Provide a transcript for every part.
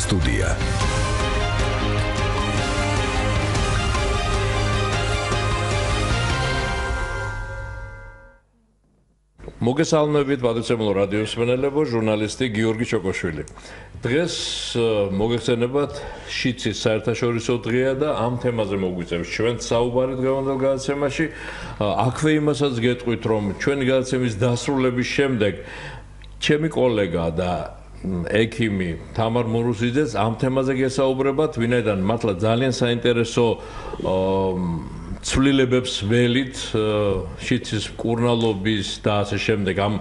სტუდია. მოგესალმებით პატრიცემულო რადიოს მსმენელებო, ჟურნალისტი გიორგი ჩოკოშვილი. დღეს მოგეხსენებათ შიცის საერთაშორისო დღეა და ამ თემაზე მოგვიწევს ჩვენ საუბარი დღევანდელ გადაცემაში. აქვე იმასაც გეტყვით, რომ ჩვენი გადაცემის დასრულების შემდეგ ჩემი კოლეგა და ექიმი თამარ მურუსიძეც ამ თემაზე გესაუბრებათ, ვინაიდან მართლა ძალიან საინტერესო ცვლილებებს ველით შიცის მკურნალობის და ასე შემდეგ ამ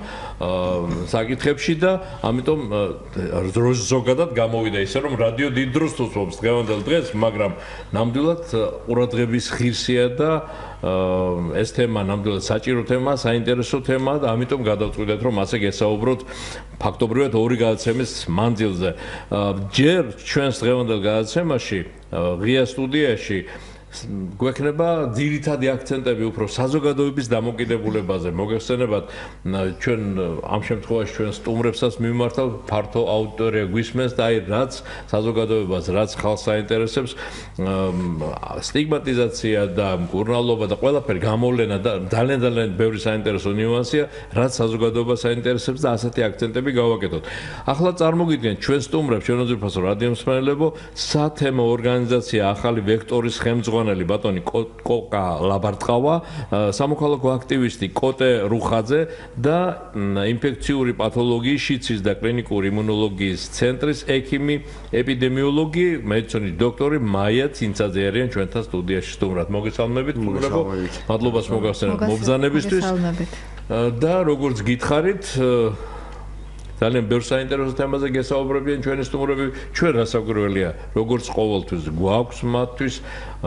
საკითხებში და ამიტომ ზოგადად გამოვიდა ისე რომ რადიო დიდ დროს უსვამს დღევანდელ დღეს, მაგრამ ნამდვილად ყურადღების ღირსია და ეს თემა ნამდვილად საჭირო თემაა, საინტერესო თემაა და ამიტომ გადავწყვიტეთ რომ ასე გესაუბროთ ფაქტობრივად ორი გადაცემის მანძილზე. ჯერ ჩვენს დღევანდელ გადაცემაში ღია სტუდიაში გვექნება ძირითადი აქცენტები უფრო საზოგადოების დამოკიდებულებაზე. მოგეხსენებათ, ჩვენ ამ შემთხვევაში ჩვენ სტუმრებსაც მიმართავ ფართო აუდიტორია გვისმენს და აი რაც საზოგადოებას, რაც ხალხს აინტერესებს, სტიგმატიზაცია და მკურნალობა და ყველაფერი გამოვლენა და ძალიან ბევრი საინტერესო ნიუანსია, რაც საზოგადოებას აინტერესებს და ასეთი აქცენტები გავაკეთოთ. ახლა წარმოგიდგენთ ჩვენ სტუმრებს, ჩვენ უძვირფასო რადიო მსმენელებო, სათემო ორგანიზაცია ახალი ვექტორის ხელმძღვანელი ბატონი კოკა ლაბარტყავა, სამოქალაქო აქტივისტი კოტე რუხაძე და ინფექციური პათოლოგიის შიცის და კლინიკური იმუნოლოგიის ცენტრის ექიმი ეპიდემიოლოგი, მედიცინის დოქტორი მაია ცინცაძე არიან ჩვენთან სტუდიაში სტუმრად. მოგესალმებით, მადლობას მოგახსენებთ მობრძანებისთვის და როგორც გითხარით ძალიან ბევრ საინტერესო თემაზე გესაუბრებიან ჩვენი სტუმრები. ჩვენ რასაკვირველია, როგორც ყოველთვის გვაქვს მათთვის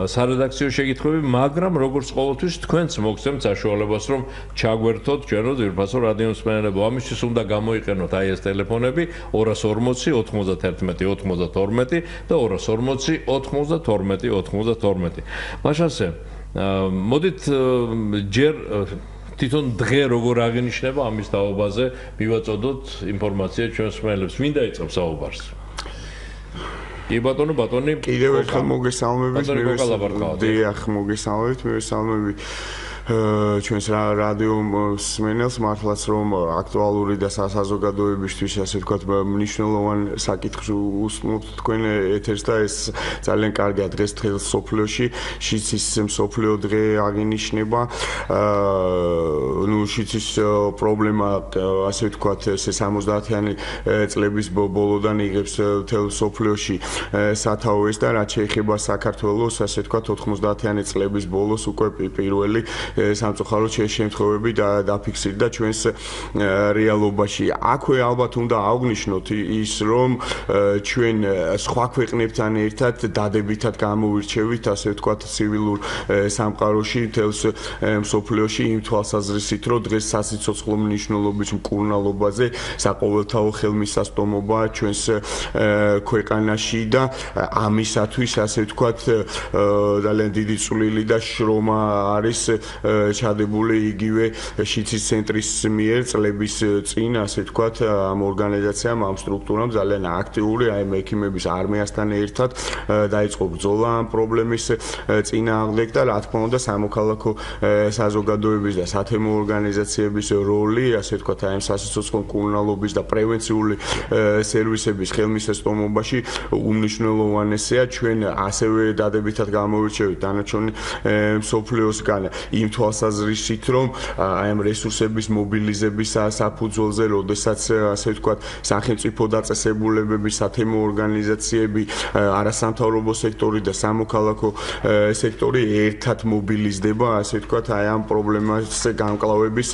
სარედაქციო შეკითხვები, მაგრამ როგორც ყოველთვის თქვენც მოგცემთ საშუალებას, რომ ჩაგვერთოთ ჩვენო ძვირფასო რადიო მსმენელებო. ამისთვის უნდა გამოიყენოთ აი ეს ტელეფონები 240 91 92 და 240 92 92. მაშასე, მოდით ჯერ თვითონ დღე როგორ აღინიშნება ამის თაობაზე მივაწოდოთ ინფორმაცია ჩვენს მსმენელებს. ვინ დაიწყებს საუბარს? კი ბატონო, ბატონი. კიდევ ერთხელ მოგესალმებით. დიახ, მოგესალმებით. ჩვენს რადიო მსმენელს მართლაც რომ აქტუალური და საზოგადოებისთვის ასე ვთქვათ მნიშვნელოვან საკითხს უსმენთ თქვენ ეთერს და ეს ძალიან კარგია დღეს თელ სოფლიოში შიცის მსოფლიო დღე აღინიშნება. შიცის პრობლემა ასე ვთქვათ ეს 70-იანი წლების ბოლოდან იღებს თელ სოფლიოში სათავეს და რაც შეეხება საქართველოს ასე ვთქვათ 90-იანი წლების ბოლოს უკვე პირველი სამწუხაროდ შემთხვევები დაფიქსირდა ჩვენს რეალობაში. აქვე ალბათ უნდა აღვნიშნოთ ის, რომ ჩვენ სხვა ქვეყნებთან ერთად დადებითად გამოვირჩევით, ასე ვთქვათ, ცივილურ სამყაროში, თელს მსოფლიოში იმ თვალსაზრისით, რომ დღეს სასიცოცხლო მნიშვნელობის მკურნალობაზე საყოველთაო ხელმისაწვდომობა ჩვენს ქვეყანაში და ამისათვის, ასე ვთქვათ, ძალიან დიდი წვლილი და შრომა არის ჩადებული იგივე შიცის ცენტრის მიერ წლების წინ, ასე ვთქვათ, ამ ორგანიზაციამ, ამ სტრუქტურამ ძალიან აქტიური აი ექიმების არმიასთან ერთად დაიწყო ბრძოლა ამ პრობლემის წინააღმდეგ და რა თქმა უნდა სამოქალაქო საზოგადოების და სათემო ორგანიზაციების როლი, ასე ვთქვათ, აი ამ სასიცოცხლო მკურნალობის და პრევენციული სერვისების ხელმისაწვდომობაში უმნიშვნელოვანესია. ჩვენ ასევე დადებითად გამოვირჩევით დანარჩენი მსოფლიოსგან იმ თვალსაზრისით, რომ აი ამ რესურსების მობილიზების საფუძველზე, როდესაც ასე ვთქვათ, სახელმწიფო დაწესებულებები, სათემო ორგანიზაციები, არასამთავრობო სექტორი და სამოქალაქო სექტორი ერთად მობილიზდება, ასე ვთქვათ, აი ამ პრობლემას გამკლავების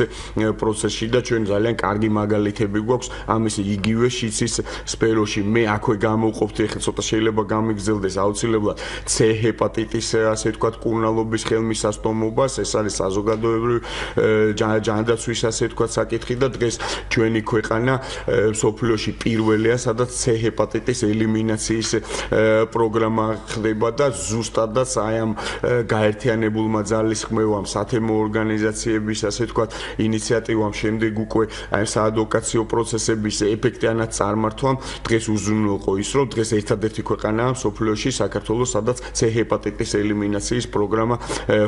პროცესში და ჩვენ ძალიან კარგი მაგალითები გვაქვს ამის იგივე შიცის სფეროში. მე აქვე გამოვყოფთ, ეხლა ცოტა შეიძლება გამიგრძელდეს აუცილებლად C ჰეპატიტის, ასე ვთქვათ, მკურნალობის ხელმისაწვდომობას, ეს არის არის საზოგადოებრივი ჯანდაცვის ასე თქვა საკითხი და დღეს ჩვენი ქვეყანა სოფლიოში პირველია, სადაც C ჰეპატიტის ელიმინაციის პროგრამა ხდება და ზუსტადაც აი ამ გაერთიანებულმა ძალისხმევამ, სათემო ორგანიზაციების ასე თქვა ინიციატივამ შემდეგ უკვე აი საადვოკაციო პროცესების ეფექტიანად წარმართვამ დღეს უზრუნველყო ის, რომ დღეს ერთადერთი ქვეყანაა სოფლიოში საქართველოს, სადაც C ჰეპატიტის ელიმინაციის პროგრამა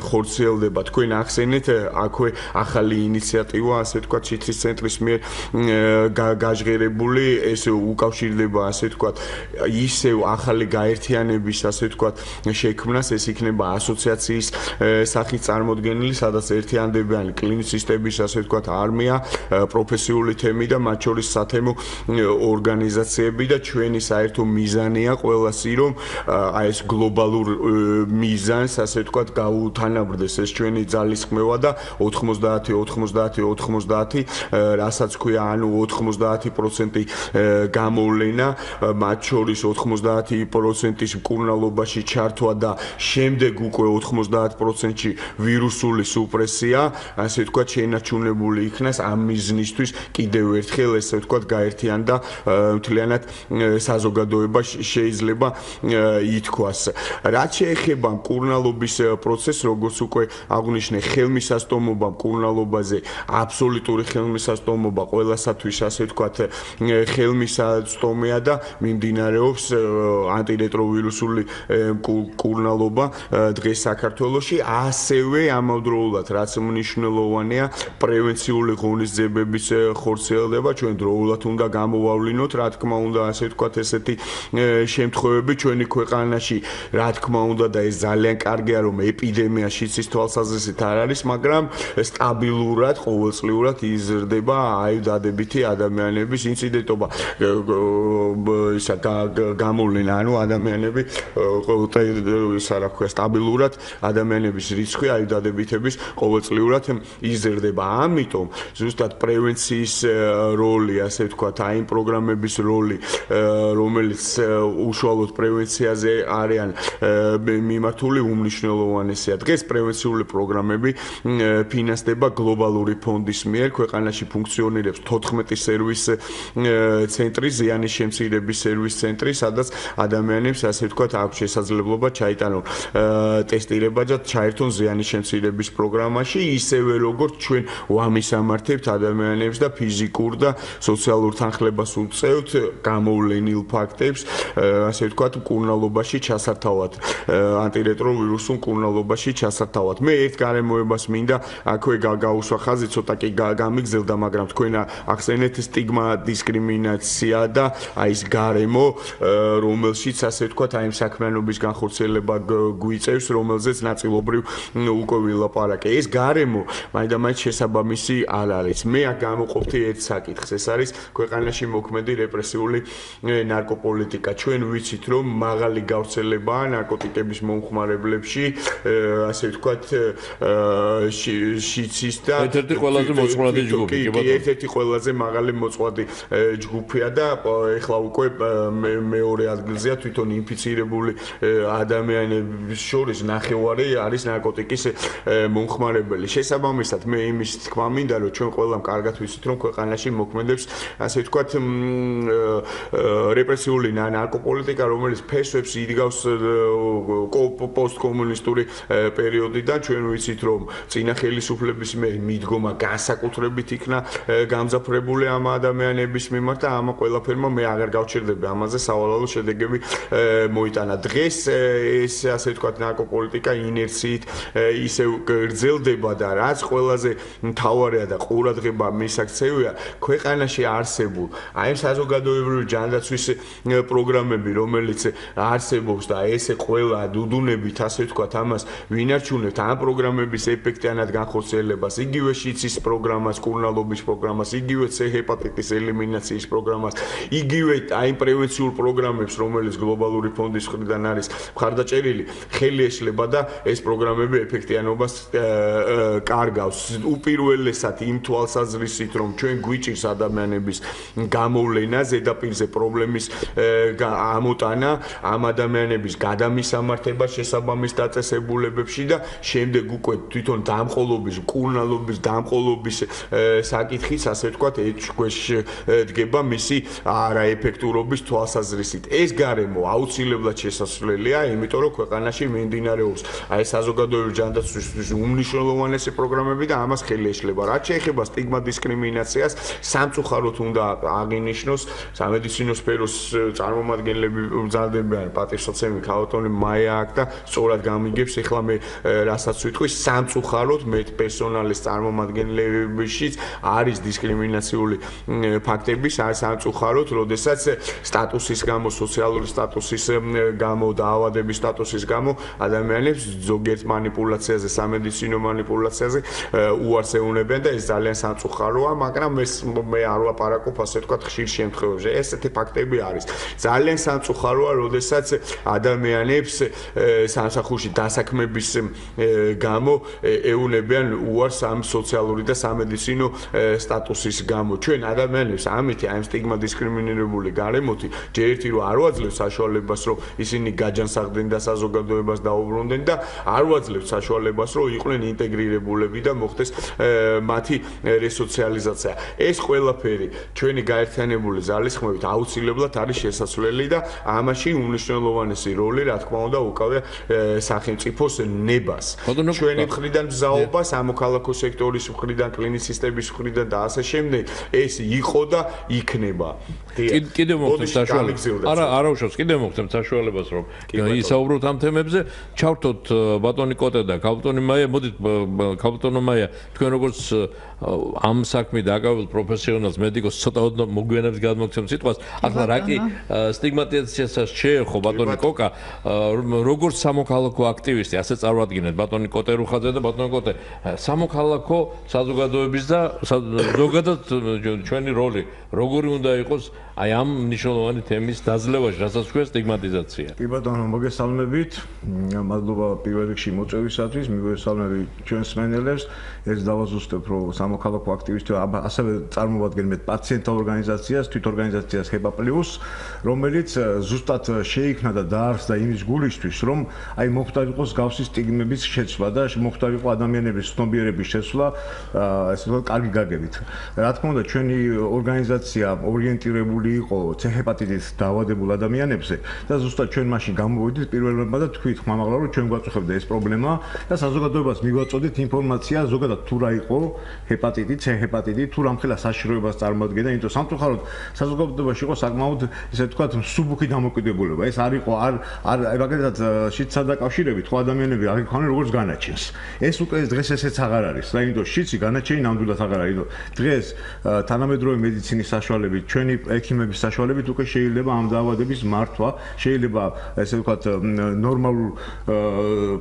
ხორციელდება. თქვენ ახსენეთ აქვე ახალი ინიციატივა, ასე თქვა ჩიტრის ცენტრის მიერ გაჟღერებული, ეს უკავშირდება ასე თქვა ისევ ახალი გაერთიანების ასე თქვა შექმნას, ეს იქნება ასოციაციის სახით წარმოდგენილი, სადაც ერთიანდებიან კლინიცისტების ასე თქვა არმია, პროფესიული თემი და მათ შორის სათემო ორგანიზაციები და ჩვენი საერთო მიზანია ყველასი, რომ აი ეს გლობალურ მიზანს ასე თქვა გაუთანაბრდეს ეს ჩვენი ძალისხმევა და 90 რასაც ქვია, ანუ 90% გამოვლენა, მათ შორის 90%-ის მკურნალობაში ჩართვა და შემდეგ უკვე 90%-ში ვირუსული სუპრესია, ასე ვთქვათ, შეინარჩუნებული იქნას ამ მიზნისთვის კიდევ ერთხელ ესე ვთქვათ გაერთიანდა მთლიანად საზოგადოება შეიძლება ითქვას. რაც შეეხება მკურნალობის პროცესს, როგორც უკვე აღნიშნე, ხელმისაწვდომობა მკურნალობაზე, აბსოლუტური ხელმისაწვდომობა ყველასათვის ასე ვთქვათ ხელმისაწვდომია და მიმდინარეობს ანტირეტროვირუსული მკურნალობა დღეს საქართველოში, ასევე ამავდროულად რაც მნიშვნელოვანია პრევენციული ღონისძიებების ხორციელდება, ჩვენ დროულად უნდა გამოვავლინოთ, რა თქმა უნდა, ასე ვთქვათ ესეთი შემთხვევები ჩვენი ქვეყანაში, რა თქმა უნდა და ეს ძალიან კარგია, რომ ეპიდემია შიცის თვალსაზრისით არ არის, მაგრამ სტაბილურად, ყოველწლიურად იზრდება აი დადებითი ადამიანების ინციდენტობა, ისა გამოვლენა, ანუ ადამიანები ისა რა ქვია, სტაბილურად ადამიანების რიცხვი აი დადებითების ყოველწლიურად იზრდება. ამიტომ ზუსტად პრევენციის როლი, ასე ვთქვათ, აი იმ პროგრამების როლი, რომელიც უშუალოდ პრევენციაზე არიან მიმართული, უმნიშვნელოვანესია. დღეს პრევენციული პროგრამები ფინანსდება გლობალური ფონდის მიერ, ქვეყანაში ფუნქციონირებს 14 სერვის ცენტრი, ზიანის შემცირების სერვის ცენტრი, სადაც ადამიანებს ასე ვთქვათ აქვს შესაძლებლობა ჩაიტანონ ტესტირება და ჩაერთონ ზიანის შემცირების პროგრამაში, ისევე როგორც ჩვენ ვამისამართებთ ადამიანებს და ფიზიკურ და სოციალურ თანხლებას უწევთ გამოვლენილ ფაქტებს, ასე ვთქვათ, მკურნალობაში ჩასართავად, ანტირეტროვირუსულ მკურნალობაში ჩასართავად. მე ერთ გარემოებას მინდა აქვე გაუსვა ხაზი, ცოტა კი გამიგზელდა, მაგრამ თქვენ ახსენეთ სტიგმა, დისკრიმინაცია და აი ეს გარემო, რომელშიც ასე ვთქვათ, აი ამ საქმიანობის განხორციელება გვიწევს, რომელზეც ნაწილობრივ უკვე ვილაპარაკე. ეს გარემო მაინდა-მაინც შესაბამისი არ არის. მე აქ გამოყოფთი ერთ საკითხს, ეს არის ქვეყანაში მოქმედი რეპრესიული ნარკოპოლიტიკა. ჩვენ ვიცით, რომ მაღალი გავრცელებაა ნარკოტიკების მომხმარებლებში, ასე ვთქვათ, შიცის და ერთ-ერთი ყველაზე მოწყვლადი ჯგუფი, კი ბატონო. ერთ-ერთი ყველაზე მაღალი მოწყვლადი ჯგუფია და ეხლა უკვე მეორე ადგილზეა თვითონ ინფიცირებული ადამიანების შორის ნახევარი არის ნარკოტიკის მომხმარებელი. შესაბამისად, მე იმის თქმა მინდა, რომ ჩვენ ყველამ კარგად ვიცით, რომ ქვეყანაში მოქმედებს, ასე ვთქვათ, რეპრესიული ნარკოპოლიტიკა, რომელიც ფესვებს იდგავს პოსტკომუნისტური პერიოდიდან. ჩვენ ვიცით, რომ წინა ხელისუფლების მიდგომა განსაკუთრებით იქნა გამძაფრებული ამ ადამიანების მიმართ და ამ ყველაფერმა მე აღარ გავჩერდები ამაზე სავალალო შედეგები მოიტანა. დღეს ეს ასე ვთქვათ ნარკოპოლიტიკა ინერციით ისევ გრძელდება და რაც ყველაზე მთავარია და ყურადღება მისაქცევია, ქვეყანაში არსებულ აი ამ საზოგადოებრივი ჯანდაცვის პროგრამები, რომელიც არსებობს და ესე ყველა დუდუნებით ასე ვთქვათ ამას ვინარჩუნებთ, ამ პროგრამების ეფექტიანად განხორციელებას, იგივე შიცის პროგრამას, კურნალობის პროგრამას, იგივე C ჰეპატიტის ელიმინაციის პროგრამას, იგივე აი პრევენციულ პროგრამებს, რომელიც გლობალური ფონდის მხრიდან არის მხარდაჭერილი, ხელი ეშლება და ეს პროგრამები ეფექტიანობას კარგავს. უპირველესად იმ თვალსაზრისით, რომ ჩვენ გვიჭირს ადამიანების გამოვლენა, ზედაპირზე პრობლემის ამოტანა, ამ ადამიანების გადამისამართება შესაბამის დაწესებულებებში და შემდეგ უკვე თვითონ დამყოლობის, მკურნალობის, დამყოლობის საკითხის, ასე ვთქვათ, ეჭვქვეშ დგება მისი არაეფექტურობის თვალსაზრისით. ეს გარემო აუცილებლად შესაძლებელია, იმიტომ რომ ქვეყანაში მიმდინარეობს აი საზოგადოებრივი ჯანდაცვის უმნიშვნელოვანესი პროგრამები და ამას ხელი ეშლება. რაც შეეხება სტიგმა დისკრიმინაციას, სამწუხაროდ უნდა აღინიშნოს სამედიცინო სფეროს წარმომადგენლები მზადდებიან პატივსაცემი ქალბატონი მაია აქ და სწორად გამიგებს ეხლა მე რასაც ვიტყვი სამწუხაროდ პერსონალის წარმომადგენლებშიც არის დისკრიმინაციული ფაქტები სამწუხაროდ, როდესაც სტატუსის გამო, სოციალური სტატუსის გამო, დაავადების სტატუსის გამო ადამიანებს ზოგიერთ მანიპულაციაზე, სამედიცინო მანიპულაციაზე უარს ეუბნებიან და ეს ძალიან სამწუხაროა, მაგრამ მე არ ვლაპარაკობ ასე ვთქვათ ხშირ შემთხვევებში. ესეთი ფაქტები არის. ძალიან სამწუხაროა, როდესაც ადამიანებს სამსახურში დასაქმების გამო ეუბნებიან უარს ამ სოციალური და სამედიცინო სტატუსის გამო. ჩვენ ადამიანებს ამით აი სტიგმა დისკრიმინირებული გარემოთი ჯერ ერთი რომ არ ვაძლევს საშუალებას რომ ისინი გაჯანსაღდნენ და საზოგადოებას დაუბრუნდნენ და არ ვაძლევს საშუალებას რომ იყვნენ ინტეგრირებულები და მოხდეს მათი რესოციალიზაცია. ეს ყველაფერი ჩვენი გაერთიანებული ძალისხმევით აუცილებლად არის შესაძლებელი და ამაში უმნიშვნელოვანესი როლი რა თქმა უნდა უკავია სახელმწიფოს ნებას. ჩვენი მხრიდან მზაობა, სამოქალაქო სექტორის მხრიდან, კლინიცისტების მხრიდან და ასე შემდეგ ეს იყო და იქნება. კიდევ მოგცემ საშუალებას. არა უშავს, კიდევ მოგცემ საშუალებას რომ ისაუბროთ ამ თემებზე. ჩავთოთ ბატონი კოტე და ქალბატონი მაია, მოდით ქალბატონო მაია, თქვენ როგორც ამ საქმით დაკავებულ პროფესიონალს, მედიკოს ცოტა მოგვიანებით გადმოგცემ სიტყვას. ახლა რა კი სტიგმატიზაციასაც შეეხო ბატონი კოკა, როგორც სამოქალაქო აქტივისტი, ასე წარმოადგენთ ბატონი კოტე რუხაძე და ბატონი კოტე, სამოქალაქო საზოგადოების და ზოგადად ჩვენი როლი როგორი უნდა იყოს აი ამ მნიშვნელოვანი თემის დაძლევაში, რასაც ქვია სტიგმატიზაცია. კი ბატონო, მოგესალმებით. მადლობა პირველ რიგში მოწვევისათვის, მივესალმები ჩვენს მსმენელებს. ეს დავაზუსტებ, რომ სამოქალაქო აქტივისტი ასევე წარმოვადგენთ პაციენტთა ორგანიზაციას, თვითორგანიზაციას HEPA+, რომელიც ზუსტად შეიქმნა და დაარსდა იმის გულისთვის, რომ აი მოხდარ იყოს გავსი სტიგმების შეცვლა და მოხდარ იყო ადამიანების ცნობიერების შეცვლა, ესე ვთქვათ, კარგი გაგებით. რა თქმა უნდა, ჩვენი ორგანიზაცია ორიენტირებული იყო C-ჰეპატიტით დაავადებულ ადამიანებზე და ზუსტად ჩვენ მაშინ გამოვიდით პირველმა და თქვით ხმამაღლა, რომ ჩვენ გვაწუხებდა ეს პრობლემა და საზოგადოებას მიგვაწოდეთ ინფორმაცია ზოგადად თუ რა იყო ჰეპატიტი, C-ჰეპატიტი, თუ რამხელა საშიშროებას წარმოადგენდა, იმიტომ სამწუხაროდ საზოგადოებაში იყო საკმაოდ ესე ვთქვათ მსუბუქი დამოკიდებულება. ეს არ იყო არ მაგალითად შიდსა დაკავშირებით ხო ადამიანები არ იქონენ როგორც განაჩენს. ეს უკვე დღეს ესეც აღარ არის. და იმიტომ შიდსი განაჩენი ნამდვილად აღარ არის. დღეს თანამედროვე მედიცინის საშუალებით, ჩვენი ექიმების საშუალებით უკვე შეიძლება ამ დაავადების მართვა, შეიძლება ესე ვთქვათ ნორმალურ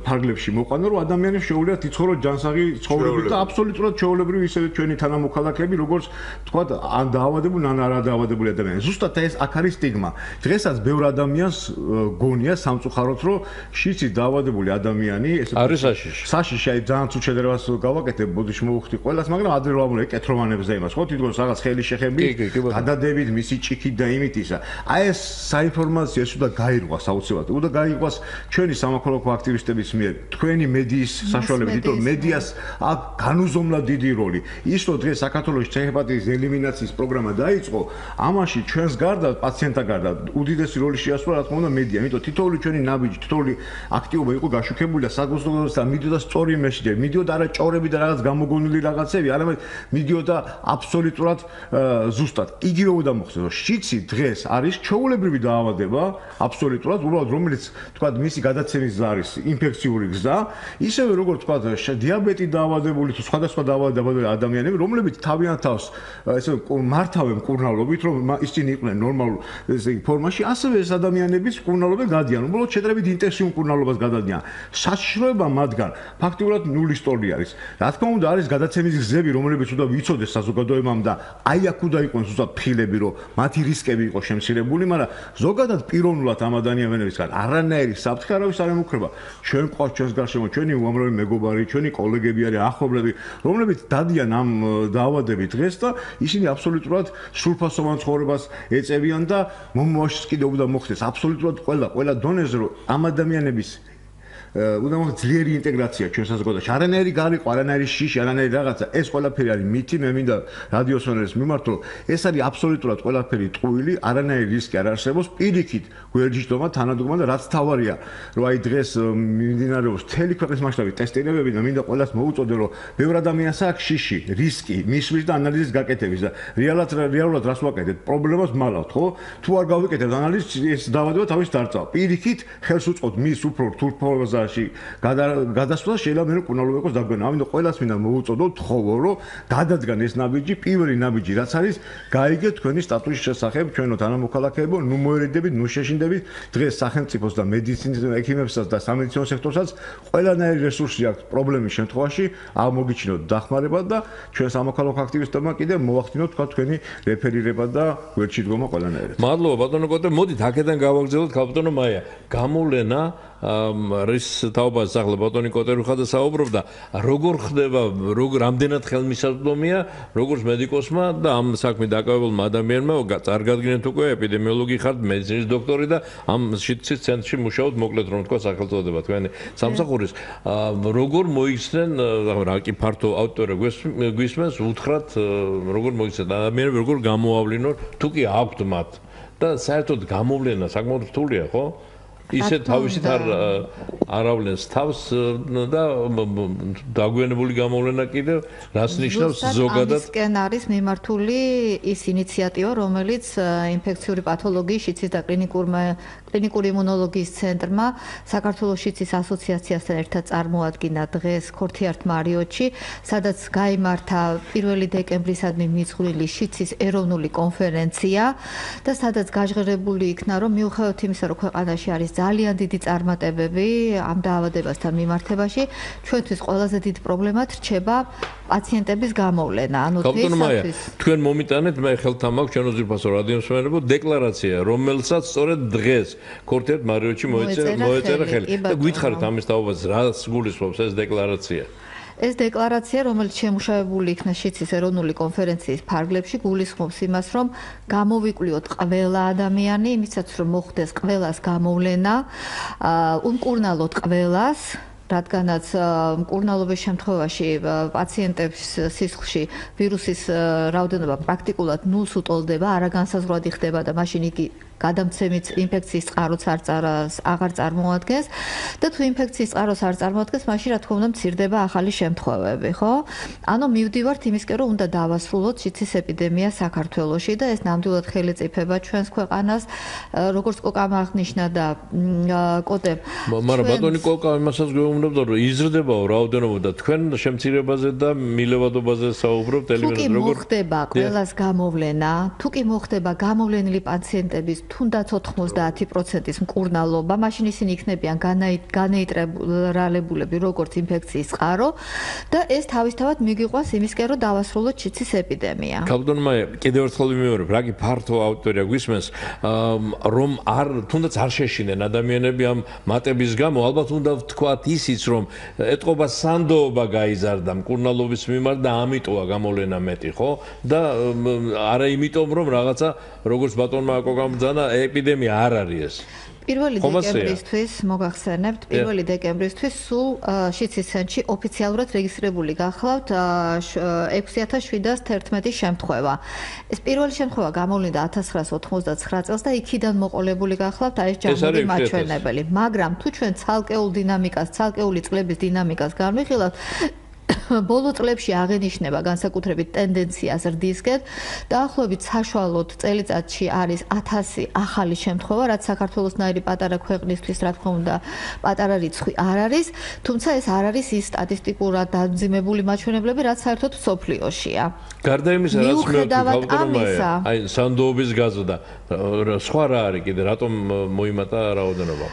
ფარგლებში მოყვანო, რომ ადამიანებს შეუძლიათ იცხოვრონ ჯანსაღი ცხოვრებით და აბსოლუტურად ჩვეულებრივი ისევე ჩვენი თანამოქალაქეები, როგორც ვთქვათ, ან დაავადებული, ან არადაავადებული ადამიანები. ზუსტად ეს აქ არის სტიგმა. დღესაც ბევრ ადამიანს გონია სამწუხაროდ, რომ შიცით დაავადებული ადამიანი, ესე არის საშიში. საშიში, აი ძალიან თუ შედარებას გავაკეთებ, ბოდიში მოვხდი ყველას, მაგრამ ადრე ვამბობ ეკეთროვანებს და იმას, ხო თითქოს რაღაც ხელი შეხები, გადადებით მისი ჭიქით და იმით ისა. აი ეს საინფორმაციო ეს უნდა გაირღვას აუცილებლად. უნდა გაირღვას ჩვენი სამოქალაქო აქტივისტების მიერ, თქვენი მედიის საშუალებით, იმიტომ რომ მედიას აქ განუზომლად დიდი როლი. ის რომ დღეს საქართველოში C-ჰეპატიტის ელიმინაციის პროგრამა დაიწყო, ამაში ჩვენს გარდა, პაციენტთა გარდა, უდიდესი როლი შეასრულა რა თქმა უნდა მედია. იმიტომ თითოეული ჩვენი ნაბიჯი, თითოეული აქტივობა იყო გაშუქებული და საზოგადოებას და მიდიოდა სწორი მესიჯები, მიდიოდა არა ჭორები და რაღაც გამოგონილი რაღაცები, არამედ მიდიოდა აბსოლუტურად ზუსტად. იგივე უნდა მოხდეს, რომ შიცი დღეს არის ჩვეულებრივი დაავადება, აბსოლუტურად, უბრალოდ რომელიც თქვათ მისი გადაცემის გზა არის ინფექციური გზა, ისევე როგორც თქვათ დიაბეტი დაავადებული თუ სხვადასხვა დაავადებული ადამიანები, რომლებიც თავიანთ თავს ესე მართავენ მკურნალობით, რომ ისინი იყვნენ ნორმალურ ფორმაში, ასევე ეს ადამიანებიც მკურნალობენ გადიან, უბრალოდ შეტრებით ინტენსიურ მკურნალობას გადადიან. საშიშროება მათგან ფაქტიურად ნულის ტოლი არის. რა თქმა უნდა, არის გადაცემის გზები, რომლებიც უნდა ვიცოდეს საზოგადოებამ და აი აქ უნდა იყოს ზუსტად ფილები, რომ მათი რისკები იყო შემცირებული, მაგრამ ზოგადად პიროვნულად ამ ადამიანებისგან არანაირი საფრთხე არავის არ ემუქრება. ჩვენ ყავს ჩვენს გარშემო, ჩვენი უამრავი მეგობარი, ჩვენი კოლეგები არის, ახლობლები, რომლებიც დადიან ამ დაავადებით დღეს და ისინი აბსოლუტურად სრულფასოვან ცხოვრებას ეწევიან და მომავალშიც კიდევ უნდა მოხდეს აბსოლუტურად ყველა დონეზე, რომ ამ ადამიანების უნდა მოხდეს ძლიერი ინტეგრაცია ჩვენ საზოგადოებაში. არანაირი გარიყო, არანაირი შიში, არანაირი რაღაცა, ეს ყველაფერი არის მითი, მე მინდა რადიოსვენელს მიმართო, ეს არის აბსოლუტურად ყველაფერი ტყუილი, არანაირი რისკი არ არსებობს, პირიქით გვერდიჯდომა, თანადგომა და რაც თავარია, რომ აი დღეს მიმდინარეობს მთელი ქვეყნის მასშტაბით ტესტირებები და მინდა ყველას მოუწოდე, რომ ბევრ ადამიანს აქვს შიში, რისკი, მისვლის და ანალიზის გაკეთების და რეალურად რას ვაკეთებთ? პრობლემას მალავთ, ხო? თუ არ გავიკეთებთ ანალიზს, ეს დავადება თავის დარწავა. პირიქით ხელს უწყობთ მის უფრო რთულ ფაზაში გადასვლას, შეიძლება მე კუნალობა იყოს დაგვენა. ამიტომ ყველას მინდა მოუწოდო, თხოვო, რომ გადადგან ეს ნაბიჯი, პირველი ნაბიჯი რაც არის, გაიგეთ თქვენი სტატუსის შესახებ, ჩვენო თანამოქალაქეებო, ნუ მოერიდებით, ნუ შეშინდებით. დღეს სახელმწიფოს და მედიცინის ექიმებსაც და სამედიცინო სექტორსაც ყველანაირი რესურსი აქვს პრობლემის შემთხვევაში, აღმოგიჩინოთ დახმარება და ჩვენ სამოქალაქო აქტივისტებმა კიდე მოახდინოთ თქვა თქვენი რეფერირება და გვერდში დგომა ყველანაირად. მადლობა ბატონო კოტე, მოდით აქედან გავაგრძელოთ ბატონო მაია. გამოვლენა რის თაობას ახლა ბატონი კოტერუხა და საუბრობდა, როგორ ხდება, რამდენად ხელმისაწვდომია როგორც მედიკოსმა და ამ საქმით დაკავებულმა ადამიანმა, წარგადგინეთ უკვე ეპიდემიოლოგი ხართ, მედიცინის დოქტორი და ამ შიდცის ცენტრში მუშაობთ, მოკლედ რომ თქვა სახელწოდება თქვენი სამსახურის. როგორ მოიხსნენ, რა კი ფართო აუდიტორია გვისმენს, უთხრათ, როგორ მოიხსნათ ადამიანები, როგორ გამოავლინოთ, თუ კი აქვთ მათ და საერთოდ გამოვლენა საკმაოდ რთულია, ხო? ისე თავისით აავლენს თავს და დაგვიანებული გამოვლენა კიდევ რას ნიშნავს ზოგადად? ამისკენ არის მიმართული ის ინიციატივა, რომელიც ინფექციური პათოლოგიის შიცის და კლინიკური იმუნოლოგიის ცენტრმა საქართველოს შიცის ასოციაციასთან ერთად წარმოადგინა დღეს ქორთიართ მარიოტში, სადაც გაიმართა 1 დეკემბრისადმი მიძღვრილი შიცის ეროვნული კონფერენცია და სადაც გაჟღერებული იქნა, რომ მიუხედავად იმისა, რომ ქვეყანაში არის ძალიან დიდი წარმატებები ამ დაავადებასთან მიმართებაში, ჩვენთვის ყველაზე დიდი პრობლემად რჩება პაციენტების გამოვლენა. ანუ დღეისათვის თქვენ მომიტანეთ, მე ხელთან მაქვს ჩვენ უზრფასო რადიომსმენელებო დეკლარაცია, რომელსაც სწორედ დღეს ქორთიართ მარიოტში მოეწერა ხელი. და გითხარით ამის თაობას, რას გულისხმობს ეს დეკლარაცია? ეს დეკლარაცია, რომელიც შემუშავებული იქნა შიცის ეროვნული კონფერენციის ფარგლებში, გულისხმობს იმას, რომ გამოვიკვლიოთ ყველა ადამიანი, იმისაც რომ მოხდეს ყველას გამოვლენა, უმკურნალოთ ყველას, რადგანაც მკურნალობის შემთხვევაში პაციენტების სისხლში ვირუსის რაოდენობა პრაქტიკულად ნულს უტოლდება, არაგანსაზღვრადი ხდება და მაშინ იგი გადამცემით ინფექციის წყაროც აღარ წარმოადგენს და თუ ინფექციის წყაროს არ წარმოადგენს, მაშინ რა თქმა უნდა მცირდება ახალი შემთხვევები, ხო? ანუ მივდივართ იმისკენ, რომ უნდა დავასრულოთ შიცის ეპიდემია საქართველოში და ეს ნამდვილად ხელისწიფება ჩვენს ქვეყანას, როგორც კოკამ აღნიშნა და კოტემ. მაგრამ ბატონი კოკა იმასაც გვეუბნებდა, რომ იზრდებაო რაოდენობა და თქვენ შემცირებაზე და მილევადობაზე საუბრობთ ტელევიზორზე, როგორ ხდება ყველას გამოვლენა, თუ კი მოხდება გამოვლენილი პაციენტების თუნდაც 90%-ის მკურნალობა, მაშინ ისინი იქნებიან განეიტრალებულები როგორც ინფექციის წყარო და ეს თავისთავად მიგიყვანს იმისკენ, რომ დავასრულოთ შიცის ეპიდემია. ბატონო მაია, კიდევ ერთხელ ვიმეორებ, რა კი ფართო აუდიტორია გვისმენს, რომ თუნდაც არ შეშინდნენ ადამიანები ამ მატების გამო, ალბათ უნდა ვთქვათ ისიც, რომ ეტყობა სანდოობა გაიზარდა მკურნალობის მიმართ და ამიტოა გამოვლენა მეტი, ხო? და არა იმიტომ, რომ რაღაცა როგორც ბატონმა კოკამ ეპიდემია არ არის ეს. 1 დეკემბრისთვის მოგახსენებთ, 1 დეკემბრისთვის სულ შიცის ცენტრში ოფიციალურად რეგისტრირებული გახლავთ 6711 შემთხვევა. ეს პირველი შემთხვევა გამოვლინდა 1999 წელს და იქიდან მოყოლებული გახლავთ ეს ჯამური მაჩვენებელი. მაგრამ თუ ჩვენ ცალკეული წლების დინამიკას განვიხილავთ, ბოლო წლებში აღენიშნება განსაკუთრებით ტენდენცია ზრდისკენ. დაახლოებით საშუალოდ წელიწადში არის 1000 ახალი შემთხვევა, რაც საქართველოსნაირი პატარა ქვეყნისთვის, რა თქმა უნდა, პატარა რიცხვი არ არის, თუმცა ეს არ არის ის სტატისტიკურად დამძიმებული მაჩვენებლები, რაც საერთოდ მსოფლიოშია. გარდა იმისა, რაც მეუბნებოდა, აი სანდოობის გაზრდა, სხვა რა არის კიდე, რატომ მოიმატა რაოდენობა?